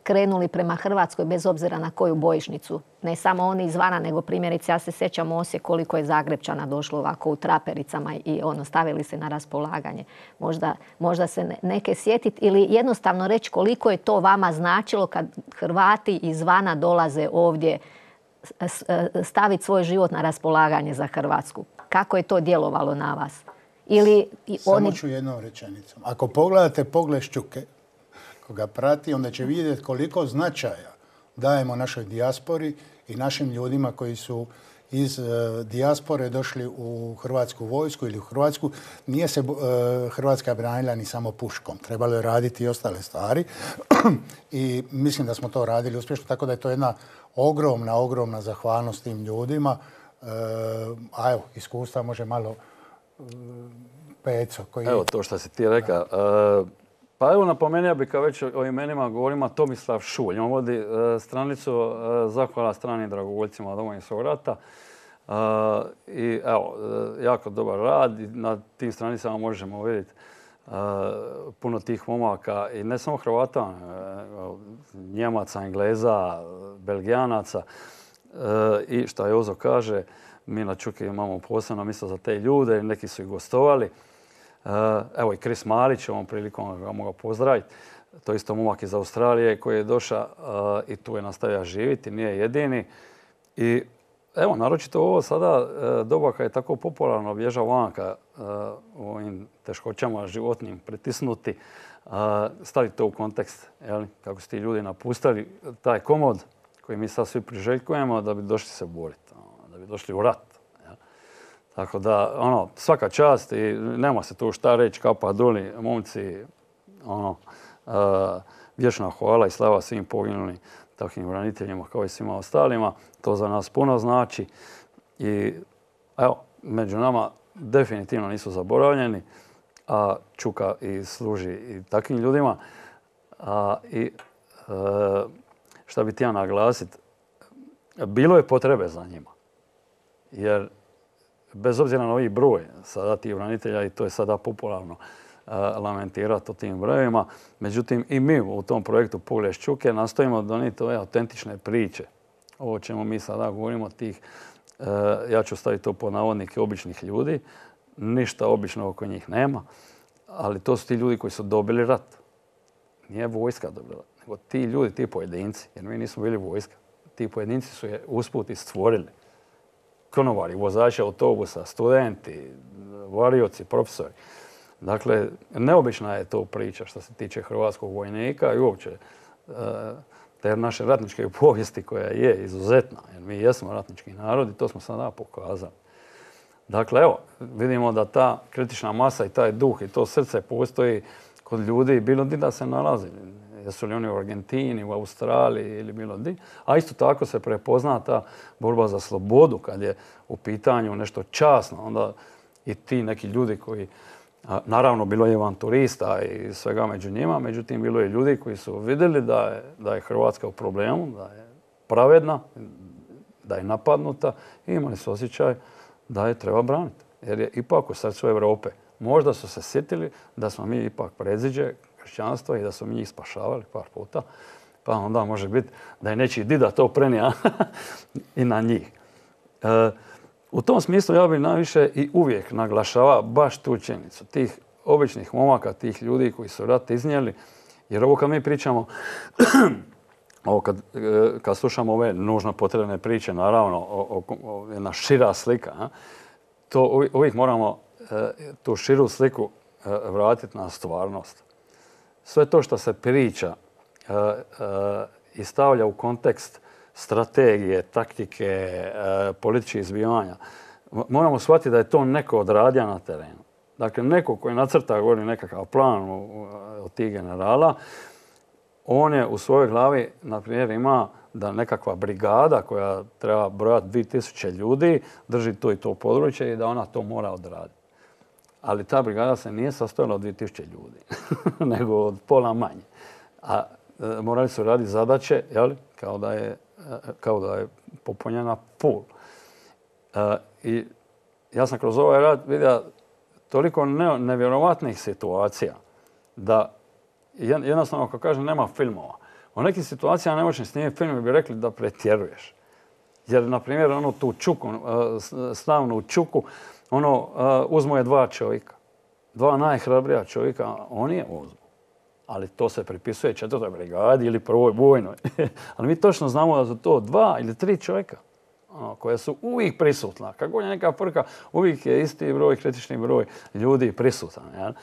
krenuli prema Hrvatskoj bez obzira na koju bojišnicu. Ne samo oni izvana, nego primjerice, ja se sjećam u Osijek koliko je Zagrepčana došlo ovako u trapericama i ono, stavili se na raspolaganje. Možda, možda se neke sjetiti ili jednostavno reći koliko je to vama značilo kad Hrvati izvana dolaze ovdje staviti svoj život na raspolaganje za Hrvatsku. Kako je to djelovalo na vas? Ili Samo oni... ću jednom rečenicom. Ako pogledate Pogled Šćuke, koga prati, onda će vidjeti koliko značaja dajemo našoj dijaspori i našim ljudima koji su iz uh, dijaspore došli u Hrvatsku vojsku ili u Hrvatsku. Nije se uh, Hrvatska branila ni samo puškom. Trebalo je raditi i ostale stvari. I mislim da smo to radili uspješno, tako da je to jedna ogromna, ogromna zahvalnost tim ljudima. Uh, a evo, iskustva može malo uh, Peco. Koji... Evo to što si ti rekao. Uh, pa evo napomenuo bih kao već o imenima govorima Tomislav Šulj. On vodi uh, stranicu uh, Zahvala stranim dragovoljcima Domovinskog rata. Uh, I evo, uh, jako dobar rad. I na tim stranicama možemo vidjeti uh, puno tih momaka i ne samo Hrvata, uh, Njemaca, Engleza, Belgijanaca. Uh, I što Jozo kaže, mi na Čuki imamo posebno mjesto za te ljude, neki su i gostovali. Uh, evo i Kris Marić, ovom prilikom ga mogu pozdraviti. To je isto momak iz Australije koji je došao uh, i tu je nastavio živjeti, nije jedini. I evo, naročito ovo sada uh, doba kad je tako popularno bježa vanka uh, u ovim teškoćama životnim pritisnuti, uh, staviti to u kontekst, jel? Kako su ti ljudi napustili taj komod koji mi sad svi priželjkujemo da bi došli se boriti, da bi došli u rat. Tako da, ono, svaka čast i nema se tu šta reći, kapa doli, momci, ono, uh, vječna hvala i slava svim poginulim takvim braniteljima kao i svima ostalima. To za nas puno znači i evo, među nama definitivno nisu zaboravljeni, a Čuka i služi i takvim ljudima. A, I uh, šta bi ti ja naglasiti, bilo je potrebe za njima, jer bez obzira na ovaj broj sada tih branitelja, i to je sada popularno uh, lamentirati o tim brojevima, međutim i mi u tom projektu Pogled Šćuke nastojimo donijeti ove autentične priče. Ovo čemu mi sada govorimo tih, uh, ja ću staviti to pod navodnike, običnih ljudi, ništa obično oko njih nema, ali to su ti ljudi koji su dobili rat. Nije vojska dobila, nego ti ljudi, ti pojedinci, jer mi nismo bili vojska. Ti pojedinci su je usput i stvorili. Konovari, vozači autobusa, studenti, varioci, profesori. Dakle, neobična je to priča što se tiče hrvatskog vojnika i uopće te naše ratničke povijesti koja je izuzetna. Jer mi jesmo ratnički narod i to smo sada pokazali. Dakle, evo, vidimo da ta kritična masa i taj duh i to srce postoji kod ljudi bilo di da se nalazi. Jesu li oni u Argentini, u Australiji ili bilo di. A isto tako se prepozna ta borba za slobodu kad je u pitanju nešto časno. Onda i ti neki ljudi koji, naravno bilo je avanturista i svega među njima, međutim bilo je ljudi koji su vidjeli da je, da je Hrvatska u problemu, da je pravedna, da je napadnuta i imali su osjećaj da je treba braniti. Jer je ipak u srcu Europe. Možda su se sjetili da smo mi ipak predziđe kršćanstva i da su mi njih spašavali par puta, pa onda može biti da je nečiji dida to prenija i na njih. E, u tom smislu ja bih najviše i uvijek naglašava baš tu činjenicu, tih običnih momaka, tih ljudi koji su rat iznijeli, jer ovo kad mi pričamo, ovo kad, kad slušamo ove nužno potrebne priče, naravno, o, o, o, jedna šira slika, a, to uvijek moramo e, tu širu sliku e, vratiti na stvarnost. Sve to što se priča uh, uh, i stavlja u kontekst strategije, taktike, uh, političkih izbivanja, moramo shvatiti da je to neko odradio na terenu. Dakle, neko koji nacrta govori nekakav plan od tih generala, on je u svojoj glavi, na primjer, ima da nekakva brigada koja treba brojati dvije tisuće ljudi drži to i to područje i da ona to mora odraditi. Ali ta brigada se nije sastojala od dvije tisuće ljudi, nego od pola manje. A e, morali su raditi zadaće, jeli, kao da je, e, kao da je popunjena pul. E, I ja sam kroz ovaj rad vidio toliko ne, nevjerovatnih situacija da jednostavno, ako kažem, nema filmova. U nekim situacijama ne možeš snimiti film i bi rekli da pretjeruješ. Jer, na primjer, ono tu čuku, slavnu čuku, ono, uh, uzmu je dva čovjeka. Dva najhrabrija čovjeka, oni je uzmu. Ali to se pripisuje četvrtoj brigadi ili prvoj bojnoj. Ali mi točno znamo da su to dva ili tri čovjeka. ono, koja su uvijek prisutna. Kako je neka frka, uvijek je isti broj, kritični broj ljudi prisutan. Jel?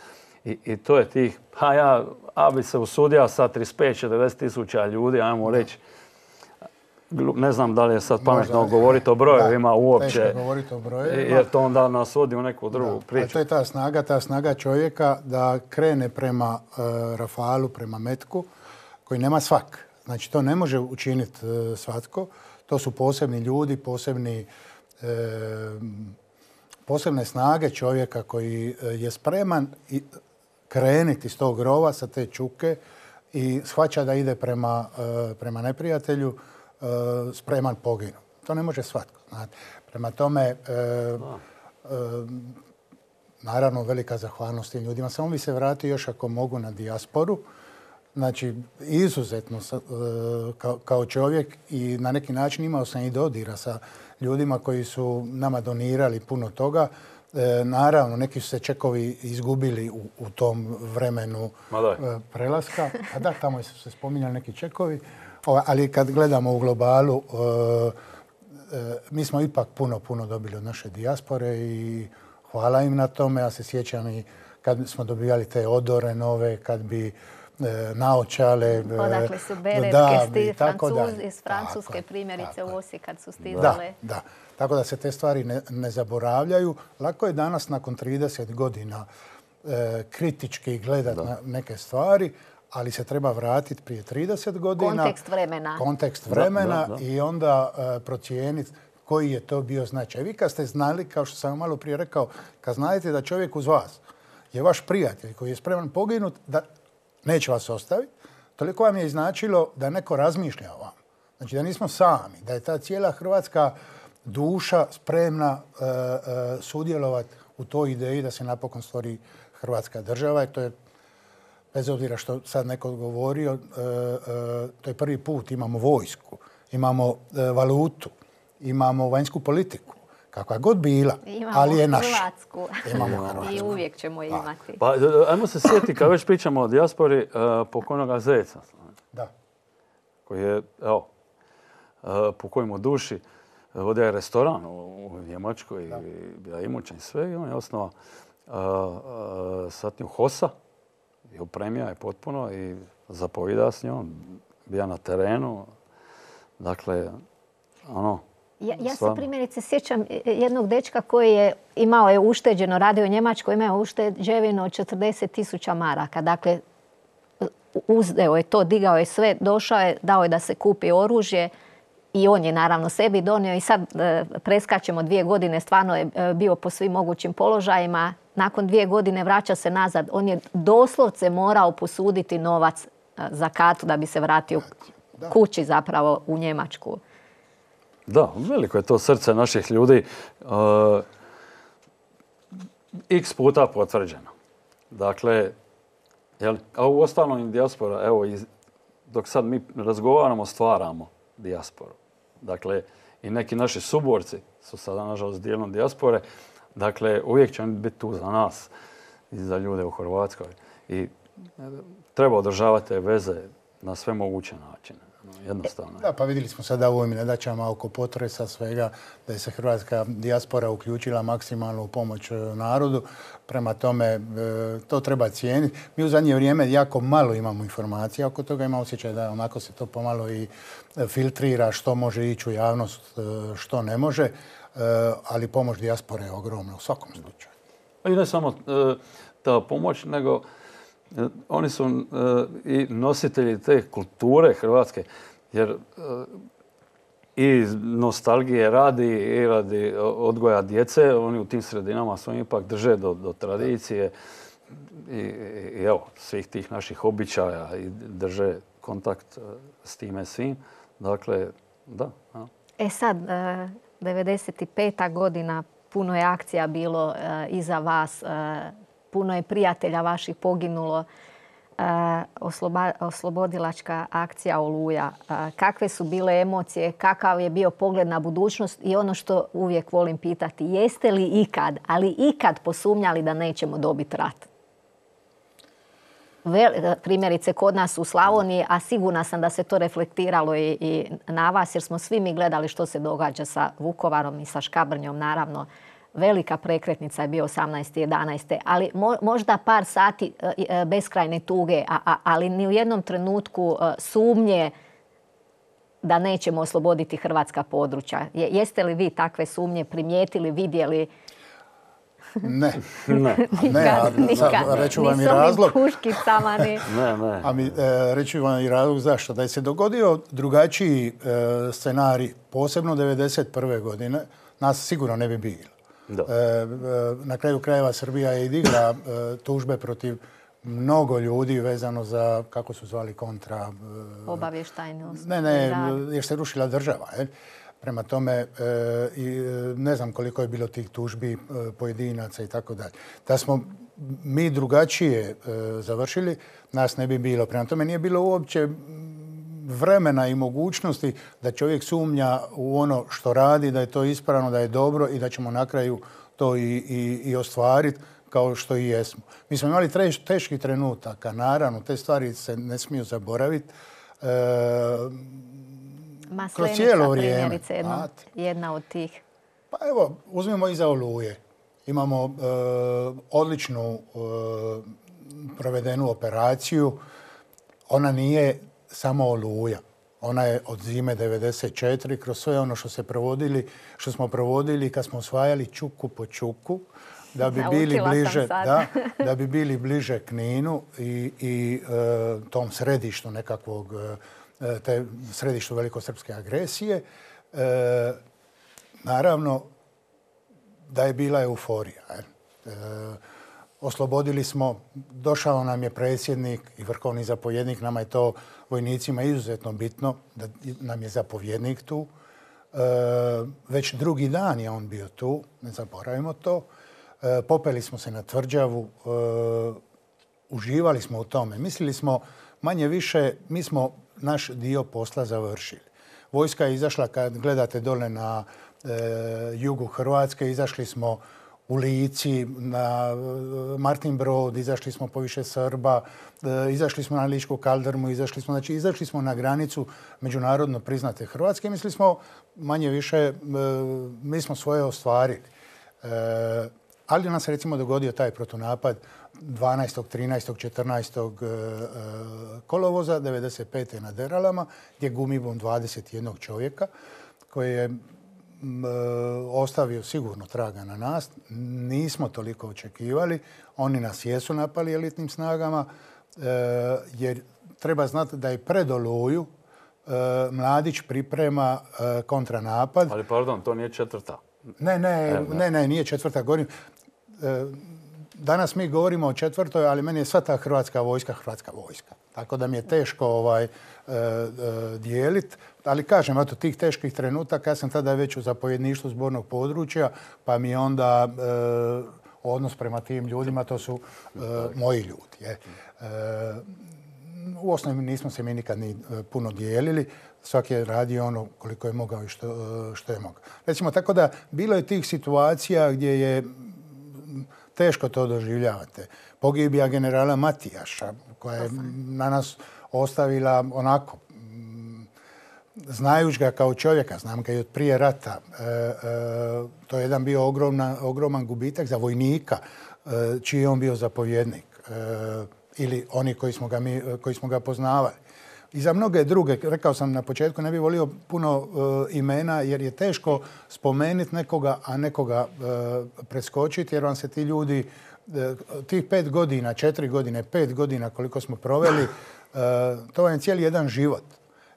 I, I to je tih, ha ja, a bi se usudio sa trideset pet do četrdeset tisuća ljudi, ajmo reći, ne znam da li je sad pametno možda govoriti o brojevima uopće, teško govoriti o brojevima, jer to onda nas vodi u neku drugu da, priču. To je ta snaga, ta snaga čovjeka da krene prema uh, Rafalu, prema metku, koji nema svak. Znači, to ne može učiniti uh, svatko. To su posebni ljudi, posebni, uh, posebne snage čovjeka koji uh, je spreman i krenuti iz tog rova sa te čuke i shvaća da ide prema, uh, prema neprijatelju, spreman poginu. To ne može svatko. Znate. Prema tome, e, e, naravno, velika zahvalnost tim ljudima. Samo bi se vratio još ako mogu na dijasporu. Znači, izuzetno e, kao, kao čovjek i na neki način imao sam i dodira sa ljudima koji su nama donirali puno toga. E, naravno, neki su se čekovi izgubili u, u tom vremenu e, prelaska. A da, tamo su se spominjali neki čekovi. Ali kad gledamo u globalu, mi smo ipak puno, puno dobili od naše dijaspore i hvala im na tome. Ja se sjećam i kad smo dobivali te odore nove, kad bi naočale. Odakle su beretke, Francuz, iz Francuske tako, primjerice tako. U Osijek kad su stizale. Da, da. Tako da se te stvari ne, ne zaboravljaju. Lako je danas nakon trideset godina e, kritički gledati na neke stvari, ali se treba vratiti prije trideset godina. Kontekst vremena. Kontekst vremena da, da, da. I onda uh, procijeniti koji je to bio značaj. Vi kad ste znali, kao što sam malo prije rekao, kad znate da čovjek uz vas je vaš prijatelj koji je spreman poginut, da neće vas ostaviti, toliko vam je značilo da neko razmišlja o vam. Znači da nismo sami, da je ta cijela hrvatska duša spremna uh, uh, sudjelovati u toj ideji da se napokon stvori Hrvatska država. I to je, bez obzira što sad neko govorio, e, e, to je prvi put. Imamo vojsku, imamo e, valutu, imamo vanjsku politiku, kakva god bila, imamo ali je naša. Hrvatsku. Imamo Hrvatsku. I uvijek ćemo imati. Pa, ajmo se sjetiti, kad već pričamo o dijaspori, uh, pokojnoga Zeca. Da. Koji je, evo, uh, pokojimo duši, vodio je restoran u, u Njemačkoj, da. I bila imućan i sve, i on je osnova uh, uh, satnju Hosa. I opremio je potpuno i zapovida s njom, bija na terenu. Dakle, ono... Ja, ja se primjerice sjećam jednog dečka koji je imao je ušteđeno, radio u Njemačkoj, imao ušteđevino od četrdeset tisuća maraka. Dakle, uzdeo je to, digao je sve, došao je, dao je da se kupi oružje i on je naravno sebi donio i sad e, preskačemo dvije godine, stvarno je e, bio po svim mogućim položajima. Nakon dvije godine vraća se nazad. On je doslovce morao posuditi novac za katu da bi se vratio da. Kući zapravo u Njemačku. Da, veliko je to srce naših ljudi. Uh, X puta potvrđeno. Dakle, jel, a u ostalom dijaspora, evo, iz, dok sad mi razgovaramo, stvaramo dijasporu. Dakle, i neki naši suborci su sada, nažalost, dijelom dijaspore. Dakle, uvijek će oni biti tu za nas i za ljude u Hrvatskoj. I treba održavati te veze na sve moguće načine. Jednostavno. Da, pa vidjeli smo sada u ovim nedaćama oko potresa svega da je se hrvatska dijaspora uključila maksimalno u pomoć narodu. Prema tome, to treba cijeniti. Mi u zadnje vrijeme jako malo imamo informacija oko toga. Ima osjećaj da onako se to pomalo i filtrira što može ići u javnost, što ne može. Ali pomoć dijaspore je ogromna u svakom slučaju. I ne samo ta pomoć, nego oni su i nositelji te kulture hrvatske, jer i nostalgije radi i radi odgoja djece, oni u tim sredinama svojim ipak drže do, do tradicije i, i evo, svih tih naših običaja i drže kontakt s time svim. Dakle, da. Ja. E sad, devedeset peta godina, puno je akcija bilo iza vas, puno je prijatelja vaših poginulo. Osloba, oslobodilačka akcija Oluja. Kakve su bile emocije, kakav je bio pogled na budućnost i ono što uvijek volim pitati, jeste li ikad, ali ikad posumnjali da nećemo dobiti rat? primjerice kod nas u Slavoniji, a sigurna sam da se to reflektiralo i, i na vas, jer smo svi mi gledali što se događa sa Vukovarom i sa Škabrnjom, naravno. Velika prekretnica je bio osamnaeste jedanaeste ali mo, možda par sati e, beskrajne tuge, a, a, ali ni u jednom trenutku e, sumnje da nećemo osloboditi hrvatska područja. Je, jeste li vi takve sumnje primijetili, vidjeli? Ne. Ne. Ne, a sad reću vam i razlog. Puškicama, ni... ne, ne. A mi, e, reću vam i razlog zašto. Da je se dogodio drugačiji e, scenarij, posebno devedeset prve godine, nas sigurno ne bi bilo. Da. E, e, na kraju krajeva Srbija je i digla e, tužbe protiv mnogo ljudi vezano za, kako su zvali, kontra... E, obavještajnost. Ne, ne, jer se rušila država. Je. Prema tome, e, i, ne znam koliko je bilo tih tužbi e, pojedinaca i tako dalje. Da smo mi drugačije e, završili, nas ne bi bilo. Prema tome nije bilo uopće vremena i mogućnosti da čovjek sumnja u ono što radi, da je to ispravno, da je dobro i da ćemo na kraju to i, i, i ostvariti kao što i jesmo. Mi smo imali treš, teških trenutaka, naravno, te stvari se ne smiju zaboraviti. E, kroz cijelo vrijeme. Jedna, jedna od tih. Pa evo, uzmimo iza Oluje. Imamo e, odličnu e, provedenu operaciju. Ona nije samo Oluja. Ona je od zime devedeset četiri kroz sve ono što se provodili, što smo provodili kad smo osvajali čuku po čuku, da bi bili bliže, da, da bi bili bliže Kninu i, i e, tom središtu nekakvog, e, te središtu velikosrpske agresije. E, naravno da je bila euforija. E, oslobodili smo, došao nam je predsjednik i vrhovni zapovjednik, nama je to vojnicima izuzetno bitno da nam je zapovjednik tu. E, već drugi dan je on bio tu, ne zaboravimo to. E, popeli smo se na tvrđavu, e, uživali smo u tome. Mislili smo manje više, mi smo naš dio posla završili. Vojska je izašla, kad gledate dole na e, jugu Hrvatske, izašli smo u Lici, na Martin Brod, izašli smo poviše Srba, izašli smo na Ličku kaldrmu, izašli smo, znači izašli smo na granicu međunarodno priznate Hrvatske i mislili smo manje više, mi smo svoje ostvarili. Ali nam se recimo dogodio taj protunapad dvanaestog, trinaestog, četrnaestog kolovoza devedeset pete na Deralama, gdje je gumibom dvadeset jednog čovjeka koji je ostavio sigurno traga na nas. Nismo toliko očekivali. Oni nas jesu napali elitnim snagama, jer treba znati da je pred Oluju Mladić priprema kontranapad. Ali pardon, to nije četvrta. Ne, ne, ne, ne, nije četvrta. Govorim, danas mi govorimo o četvrtoj, ali meni je sva ta hrvatska vojska hrvatska vojska. Tako da mi je teško ovaj, dijeliti. Ali kažem, eto, tih teških trenutaka, ja sam tada već u zapovjedništvu zbornog područja, pa mi onda e, odnos prema tim ljudima, to su e, moji ljudi. Je. E, u osnovi nismo se mi nikad ni puno dijelili. Svaki je radio ono koliko je mogao i što, što je mogao. Recimo, tako da bilo je tih situacija gdje je teško to doživljavate. Pogibija generala Matijaša, koja je na nas ostavila onako, znajući ga kao čovjeka, znam ga i od prije rata, e, e, to je jedan bio ogromna, ogroman gubitak za vojnika, e, čiji je on bio zapovjednik, e, ili oni koji smo, ga mi, koji smo ga poznavali. I za mnoge druge, rekao sam na početku, ne bih volio puno e, imena, jer je teško spomenuti nekoga, a nekoga e, preskočiti, jer vam se ti ljudi, e, tih pet godina, četiri godine, pet godina koliko smo proveli, e, to vam je cijeli jedan život.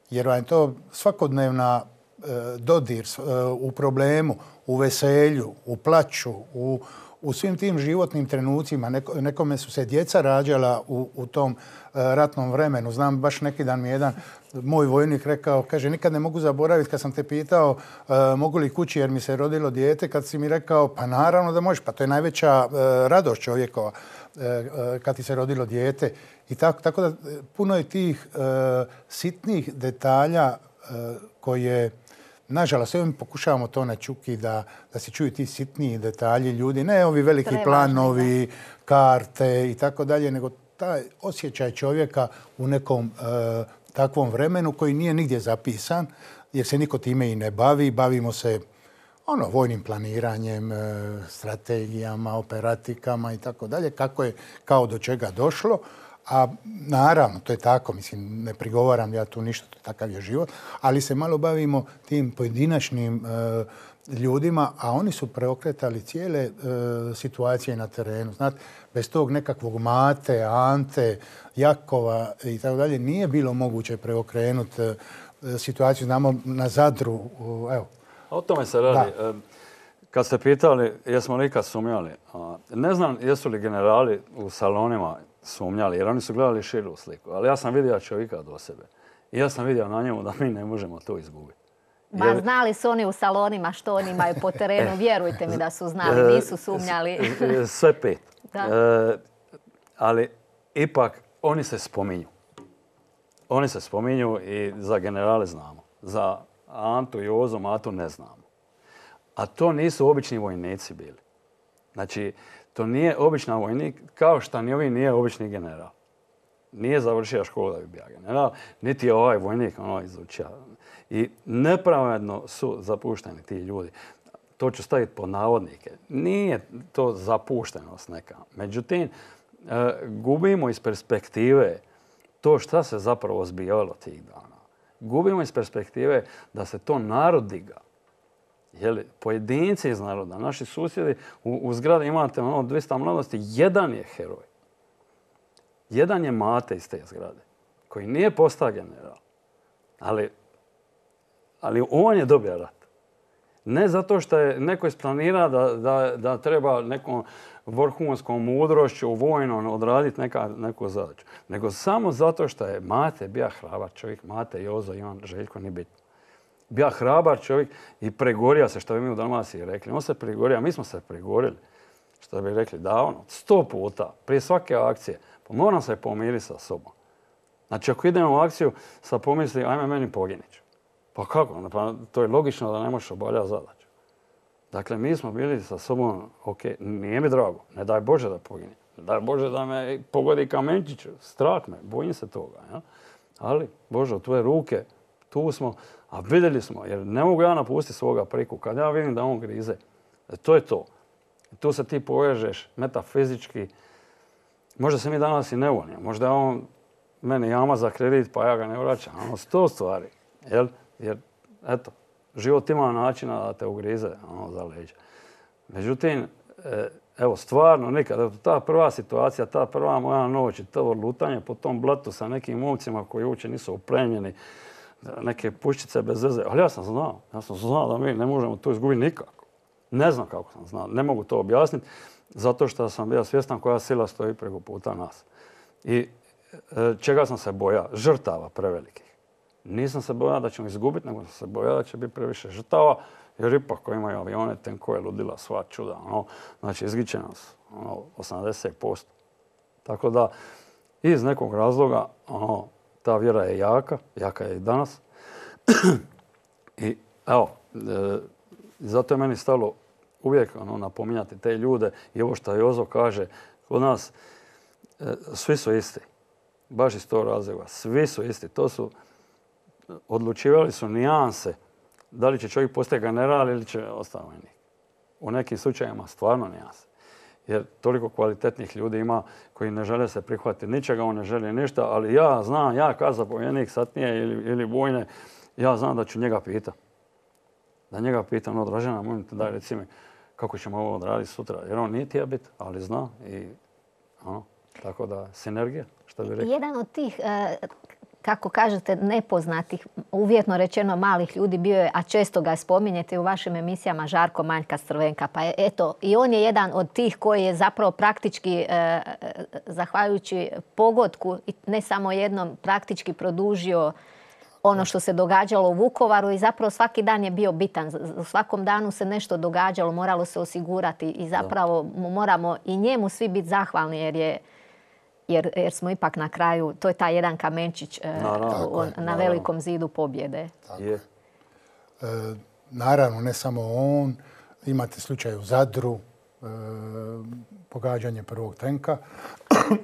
Jer vam je to svakodnevna e, dodir e, u problemu, u veselju, u plaću, u, u svim tim životnim trenucima. Neko, nekome su se djeca rađala u, u tom e, ratnom vremenu. Znam, baš neki dan mi jedan moj vojnik rekao, kaže, nikad ne mogu zaboraviti kad sam te pitao e, mogu li kući jer mi se rodilo dijete, kad si mi rekao, pa naravno da možeš, pa to je najveća e, radost čovjekova e, e, kad ti se rodilo dijete. I tako, tako da puno je tih e, sitnih detalja e, koje, nažalost, evo mi pokušavamo to na Čuki da, da se čuju ti sitniji detalji ljudi, ne ovi veliki Prevažni, planovi, da. Karte i tako dalje, nego taj osjećaj čovjeka u nekom e, takvom vremenu koji nije nigdje zapisan, jer se niko time i ne bavi. Bavimo se ono, vojnim planiranjem, e, strategijama, operatikama i tako dalje, kako je kao do čega došlo. A naravno, to je tako, mislim, ne prigovaram ja tu ništa, takav je život, ali se malo bavimo tim pojedinačnim e, ljudima, a oni su preokretali cijele e, situacije na terenu. Znate, bez tog nekakvog Mate, Ante, Jakova i tako dalje nije bilo moguće preokrenuti e, situaciju. Znamo na Zadru, evo. O tome se radi. Da. Kad ste pitali jesmo li ikad sumnjali, ne znam jesu li generali u salonima sumnjali, jer oni su gledali širu sliku. Ali ja sam vidio čovjeka do sebe. I ja sam vidio na njemu da mi ne možemo to izgubiti. Ma jer... znali su oni u salonima što oni imaju po terenu. Vjerujte mi da su znali, nisu sumnjali. Sve pet. E, ali ipak oni se spominju. Oni se spominju i za generale znamo. Za Antu i Jozo Matu ne znamo. A to nisu obični vojnici bili. Znači, to nije običan vojnik, kao što ni ovi nije obični general. Nije završio školu da bi bio general, niti je ovaj vojnik ono izučio. I nepravedno su zapušteni ti ljudi. To ću staviti pod navodnike. Nije to zapuštenost neka. Međutim, gubimo iz perspektive to šta se zapravo zbivalo tih dana. Gubimo iz perspektive da se to narod diga. Jeli, pojedinci iz naroda, naši susjedi, u, u zgradi imate ono dvjesto mladosti, jedan je heroj. Jedan je Mate iz te zgrade, koji nije postao general. Ali, ali on je dobio rat. Ne zato što je neko isplanira da, da, da treba nekom vrhunskom mudrošću vojnom odraditi neka, neku zadaću. Nego samo zato što je Mate bio hrabar čovjek. Mate, Jozo, Ivan, Željko, nije bitno. Bio hrabar čovjek i pregorio se, što bi mi u Dalmaciji rekli. On se pregorio, a mi smo se pregorili. Što bi rekli davno, sto puta, prije svake akcije. Pa moram se pomiriti sa sobom. Znači, ako idemo u akciju, sad pomisli, ajme meni poginić. Pa kako? Pa to je logično da ne možeš obavljati zadaću. Dakle, mi smo bili sa sobom, ok, nije mi drago, ne daj Bože da poginim. Ne daj Bože da me pogodi kamenčić, strah me, bojim se toga. Ja? Ali, Bože, u tvoje ruke, tu smo, a vidjeli smo, jer ne mogu ja napustiti svoga priku. Kad ja vidim da on grize, to je to. Tu se ti povežeš metafizički. Možda se mi danas i ne volimo. Možda je on meni jama za kredit, pa ja ga ne vraćam. Ono, sto stvari. Jel? Jer, eto, život ima načina da te ugrize ono, za leđa. Međutim, evo, stvarno nikad, ta prva situacija, ta prva moja noć i to lutanje po tom blatu sa nekim momcima koji uopće nisu oplemljeni, neke puščice bez veze. Ali ja sam znao. Ja sam znao da mi ne možemo to izgubiti nikako. Ne znam kako sam znao. Ne mogu to objasniti. Zato što sam bio svjestan koja sila stoji preko puta nas. I e, čega sam se bojao? Žrtava prevelikih. Nisam se bojao da ćemo izgubiti, nego sam se bojao da će biti previše žrtava. Jer ipak koji imaju avione, tenkove, ludila, sva čuda. Ono, znači, izgiće nas ono, osamdeset posto. Tako da, iz nekog razloga, ono, ta vjera je jaka, jaka je i danas. I evo, e, zato je meni stalo uvijek ono, napominjati te ljude i ovo što Jozo kaže, kod nas e, svi su isti. Baš iz tog razloga. Svi su isti. To su, odlučivali su nijanse. Da li će čovjek postati general ili će ostati vojnik. U nekim slučajevima stvarno nijanse. Jer toliko kvalitetnih ljudi ima koji ne žele se prihvatiti ničega, on ne želi ništa, ali ja znam, ja kao zapovjednik satnije ili, ili vojne, ja znam da ću njega pitati. Da njega pitam, no Dražena, molim te daj reci mi kako ćemo ovo odraditi sutra. Jer on nije tija bit, ali zna i ono, tako da sinergija, što bi rekli. Jedan od tih, kako kažete, nepoznatih, uvjetno rečeno malih ljudi bio je, a često ga spominjete u vašim emisijama, Žarko Manjka Strvenka. Pa eto, i on je jedan od tih koji je zapravo praktički, zahvaljujući pogodku, ne samo jednom, praktički produžio ono što se događalo u Vukovaru i zapravo svaki dan je bio bitan. U svakom danu se nešto događalo, moralo se osigurati i zapravo moramo i njemu svi biti zahvalni jer je Jer, jer smo ipak na kraju, to je taj jedan kamenčić e, naravno, on, na naravno. velikom zidu pobjede. Tako je. E, naravno, ne samo on. Imate slučaj u Zadru, pogađanje prvog tenka.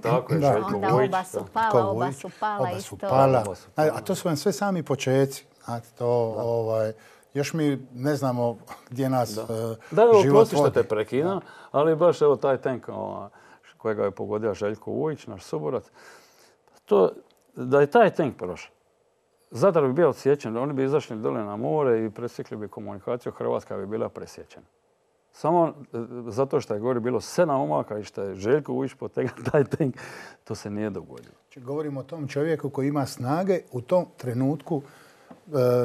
Tako je, Željko Onda Vujić. oba su pala, oba su pala Oba isto. su pala. Oba su pala. A to su vam sve sami počeci. Znate, to, ovaj, još mi ne znamo gdje nas Da, uh, da evo, život prosti što vodi. te prekidam, ali baš evo taj tenk ovaj, kojega je pogodio Željko Vujić, naš suborac, to, da je taj tank prošao, Zadar bi bio odsječen, oni bi izašli dole na more i presjekli bi komunikaciju, Hrvatska bi bila presječena. Samo zato što je gore bilo sedam omaka i što je Željko Vujić potegao taj tank, to se nije dogodilo. Znači, govorimo o tom čovjeku koji ima snage u tom trenutku. Uh,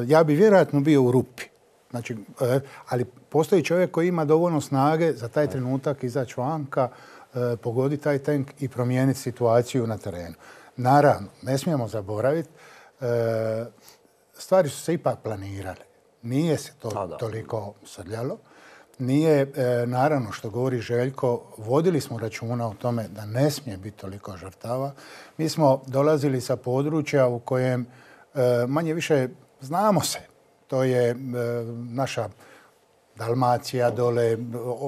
ja bi vjerojatno bio u rupi. Znači, uh, ali postoji čovjek koji ima dovoljno snage za taj trenutak izaći vanka, uh, pogoditi taj tank i promijeniti situaciju na terenu. Naravno, ne smijemo zaboraviti, uh, stvari su se ipak planirale. Nije se to A, da. toliko srljalo. Nije, e, naravno, što govori Željko, vodili smo računa o tome da ne smije biti toliko žrtava. Mi smo dolazili sa područja u kojem e, manje više znamo se. To je e, naša Dalmacija dole,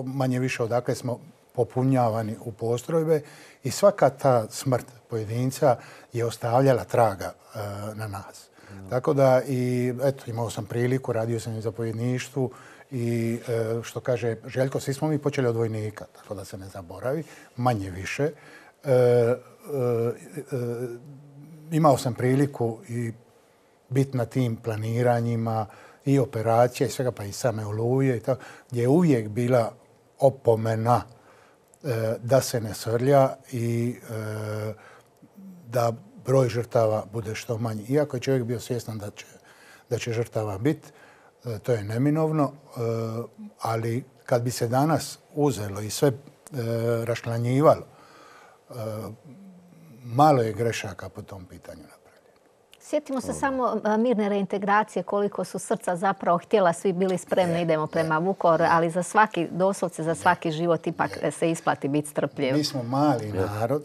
manje više odakle smo popunjavani u postrojbe i svaka ta smrt pojedinca je ostavljala traga e, na nas. Mm. Tako da i eto, imao sam priliku, radio sam i zapovjedništvu i e, što kaže Željko, svi smo mi počeli od vojnika, tako da se ne zaboravi, manje više. E, e, e, imao sam priliku i biti na tim planiranjima i operacija i svega, pa i same Oluje i tako, gdje je uvijek bila opomena e, da se ne srlja i e, da broj žrtava bude što manji. Iako je čovjek bio svjestan da će, da će žrtava biti, e, to je neminovno, e, ali kad bi se danas uzelo i sve e, raščlanjivalo, e, malo je grešaka po tom pitanju napravljeno. Sjetimo se samo mirne reintegracije, koliko su srca zapravo htjela, svi bili spremni, idemo prema Vukovaru, ali za svaki, doslovce za svaki život ipak se isplati biti strpljiv. Mi smo mali narod.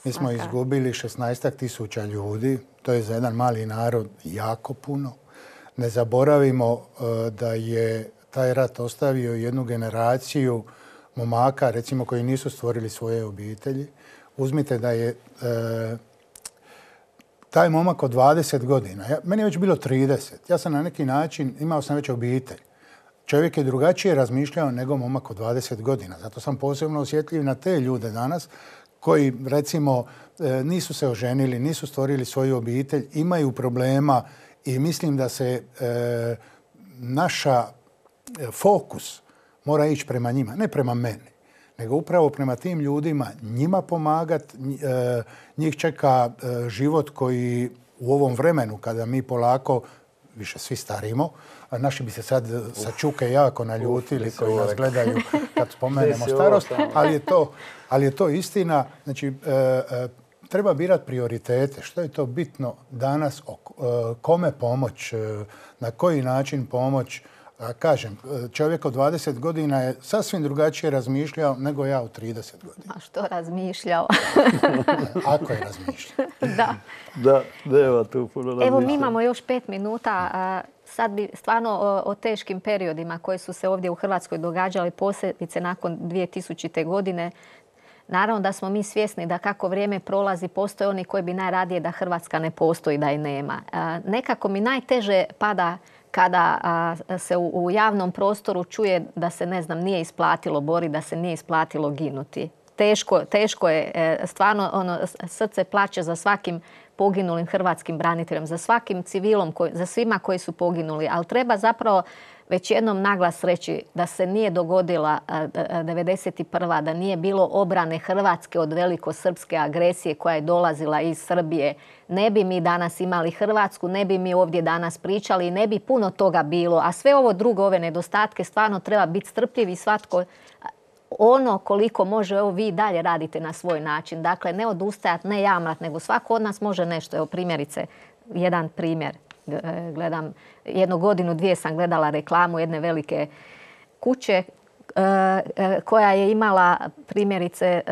Mi smo izgubili šesnaest tisuća ljudi. To je za jedan mali narod jako puno. Ne zaboravimo da je taj rat ostavio jednu generaciju momaka, recimo, koji nisu stvorili svoje obitelji. Uzmite da je e, taj momak od dvadeset godina, ja, meni je već bilo trideset. Ja sam na neki način, imao sam već obitelj. Čovjek je drugačije razmišljao nego momak od dvadeset godina. Zato sam posebno osjetljiv na te ljude danas koji, recimo, nisu se oženili, nisu stvorili svoju obitelj, imaju problema i mislim da se e, naša fokus mora ići prema njima, ne prema meni, nego upravo prema tim ljudima, njima pomagati. E, njih čeka e, život koji u ovom vremenu, kada mi polako više svi starimo, a naši bi se sad sa čuke jako naljutili Uf, koji nas gledaju kad spomenemo starost, ali je to, ali je to istina. Znači, e, e, treba birati prioritete. Što je to bitno danas, o, e, kome pomoć, e, na koji način pomoć. A kažem, čovjek od dvadeset godina je sasvim drugačije razmišljao nego ja od trideset godina. A što razmišljao? Ako je razmišljao. Da. Da, nema tu puno razmišljao. Evo, mi imamo još pet minuta. Sad bi stvarno o, o teškim periodima koji su se ovdje u Hrvatskoj događali, posebice nakon dvije tisućite. godine. Naravno da smo mi svjesni da kako vrijeme prolazi, postoje oni koji bi najradije da Hrvatska ne postoji, da je nema. Nekako mi najteže pada kada a, se u, u javnom prostoru čuje da se, ne znam, nije isplatilo boriti, da se nije isplatilo ginuti. Teško, teško je, e, stvarno ono, srce plače za svakim poginulim hrvatskim braniteljem, za svakim civilom, koji, za svima koji su poginuli. Ali treba zapravo već jednom naglas reći da se nije dogodila devedeset prva. da nije bilo obrane Hrvatske od velikosrpske agresije koja je dolazila iz Srbije. Ne bi mi danas imali Hrvatsku, ne bi mi ovdje danas pričali i ne bi puno toga bilo. A sve ovo drugo, ove nedostatke, stvarno treba biti strpljiv i svatko ono koliko može. Evo, vi dalje radite na svoj način. Dakle, ne odustajati, ne jamrat, nego svako od nas može nešto. Evo, primjerice, jedan primjer. Gledam, jednu godinu, dvije sam gledala reklamu jedne velike kuće koja je imala primjerice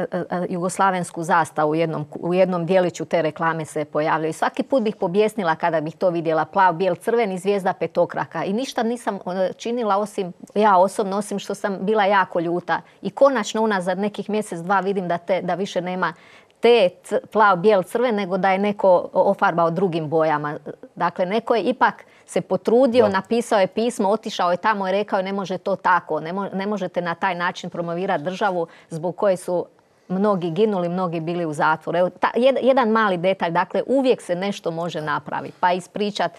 jugoslavensku zastavu u jednom, u jednom dijeliću te reklame se pojavljaju. Svaki put bih pobjesnila kada bih to vidjela, plav, bijel, crveni, zvijezda petokraka. I ništa nisam činila osim, ja osobno, osim što sam bila jako ljuta. I konačno unazad nekih mjesec, dva vidim da, te, da više nema te plav, bijel, crven, nego da je neko ofarbao drugim bojama. Dakle, neko je ipak se potrudio, da. Napisao je pismo, otišao je tamo i rekao ne može to tako, ne, mo- ne možete na taj način promovirati državu zbog koje su mnogi ginuli, mnogi bili u zatvoru. Evo, ta, jed, jedan mali detalj, dakle uvijek se nešto može napraviti, pa ispričati.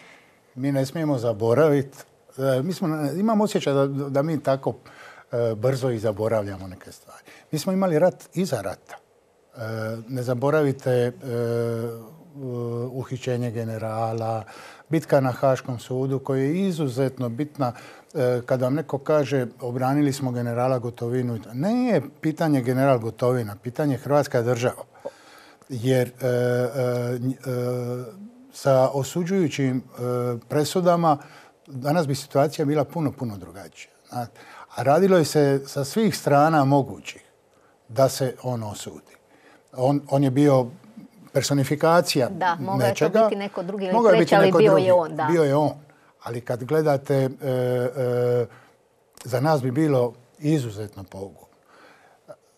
Mi ne smijemo zaboraviti, e, mi smo, imam osjećaj da, da mi tako e, brzo i zaboravljamo neke stvari. Mi smo imali rat iza rata. E, ne zaboravite e, uhićenje generala, bitka na Haškom sudu koja je izuzetno bitna. Kada vam neko kaže obranili smo generala Gotovinu, ne je pitanje general Gotovina, pitanje Hrvatska država. Jer e, e, sa osuđujućim e, presudama danas bi situacija bila puno, puno drugačija. A radilo je se sa svih strana mogućih da se on osudi. On, on je bio personifikacija da, mogao nečega. Je to biti neko drugi ili treći, ali bio drugi. je on. Da. Bio je on. Ali kad gledate, e, e, za nas bi bilo izuzetno pogubno.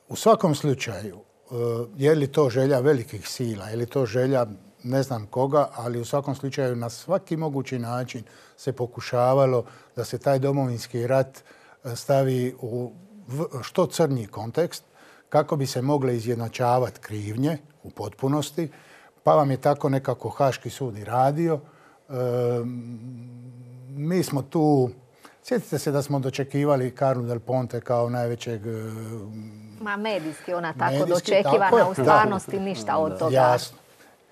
U svakom slučaju, e, je li to želja velikih sila, je li to želja ne znam koga, ali u svakom slučaju na svaki mogući način se pokušavalo da se taj domovinski rat stavi u što crnji kontekst, kako bi se mogle izjednačavati krivnje u potpunosti, pa vam je tako nekako Haški sud i radio. E, mi smo tu, sjetite se da smo dočekivali Carlu Del Ponte kao najvećeg... Ma medijski ona tako medijski, dočekivana, tako u stvarnosti da. Ništa od toga. Jasno.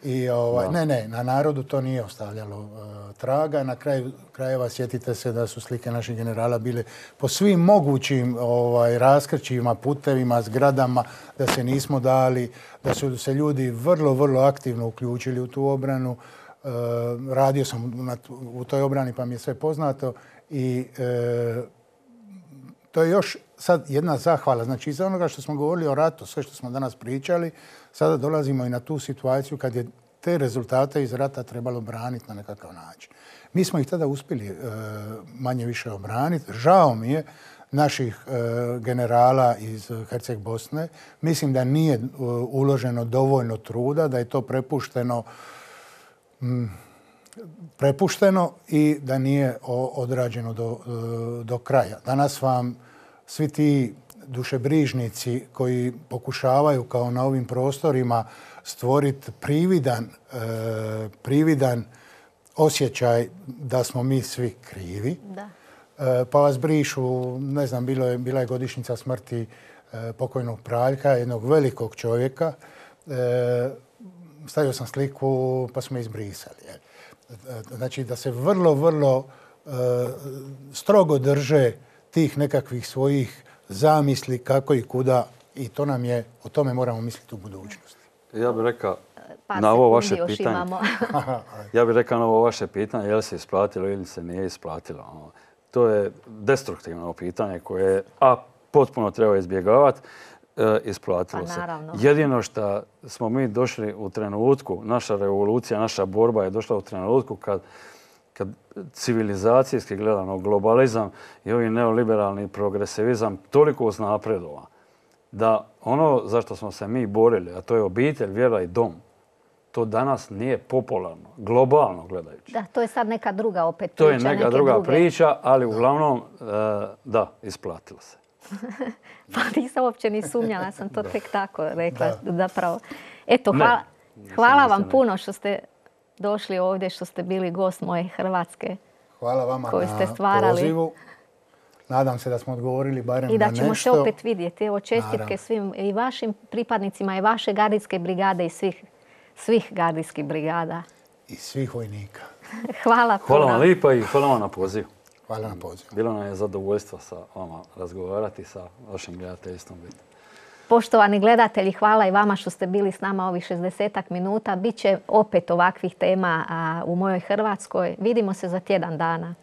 I ovaj, ne, ne, na narodu to nije ostavljalo uh, traga. Na kraju krajeva sjetite se da su slike naših generala bile po svim mogućim ovaj, raskrčivima, putevima, zgradama, da se nismo dali, da su se ljudi vrlo, vrlo aktivno uključili u tu obranu. Uh, radio sam na, u toj obrani pa mi je sve poznato i uh, to je još sad jedna zahvala. Znači, iz onoga što smo govorili o ratu, sve što smo danas pričali, sada dolazimo i na tu situaciju kad je te rezultate iz rata trebalo braniti na nekakav način. Mi smo ih tada uspjeli e, manje više obraniti. Žao mi je naših e, generala iz Herceg Bosne. Mislim da nije e, uloženo dovoljno truda, da je to prepušteno m, prepušteno i da nije odrađeno do, do kraja. Danas vam svi ti dušebrižnici koji pokušavaju kao na ovim prostorima stvoriti prividan, eh, prividan osjećaj da smo mi svi krivi. Da. Eh, pa vas brišu, ne znam, bilo je, bila je godišnjica smrti eh, pokojnog Praljka, jednog velikog čovjeka. Eh, stavio sam sliku pa smo izbrisali. Znači da se vrlo, vrlo eh, strogo drže tih nekakvih svojih zamisli kako i kuda i to nam je, o tome moramo misliti u budućnosti. Ja bih rekao na ovo vaše pitanje. ja bih rekao na ovo vaše pitanje, je li se isplatilo ili se nije isplatilo. To je destruktivno pitanje koje a potpuno treba izbjegavati. E, isplatilo pa, se. naravno. Jedino što smo mi došli u trenutku, naša revolucija, naša borba je došla u trenutku kad kad civilizacijski gledano globalizam i ovi neoliberalni progresivizam toliko uznapredova da ono za što smo se mi borili, a to je obitelj, vjera i dom, to danas nije popularno, globalno gledajući. Da, to je sad neka druga opet priča. To je neka druga druge. priča, ali uglavnom, da, isplatilo se. Pa nisam uopće ni sumnjala, sam to tek tako rekla. Zapravo. Eto, hvala, hvala vam puno što ste došli ovdje, što ste bili gost moje Hrvatske. Hvala vama koju ste na stvarali. pozivu. Nadam se da smo odgovorili barem na nešto. I da ćemo se opet vidjeti. Evo, čestitke svim i vašim pripadnicima i vaše gardijske brigade i svih, svih gardijskih brigada. I svih vojnika. Hvala puno. Hvala vam lijepa i hvala vam na pozivu. Hvala na pozivu. Bilo nam je zadovoljstvo sa vama razgovarati, sa vašim gledateljstvom. Poštovani gledatelji, hvala i vama što ste bili s nama ovih šezdesetak minuta. Biće opet ovakvih tema u mojoj Hrvatskoj. Vidimo se za tjedan dana.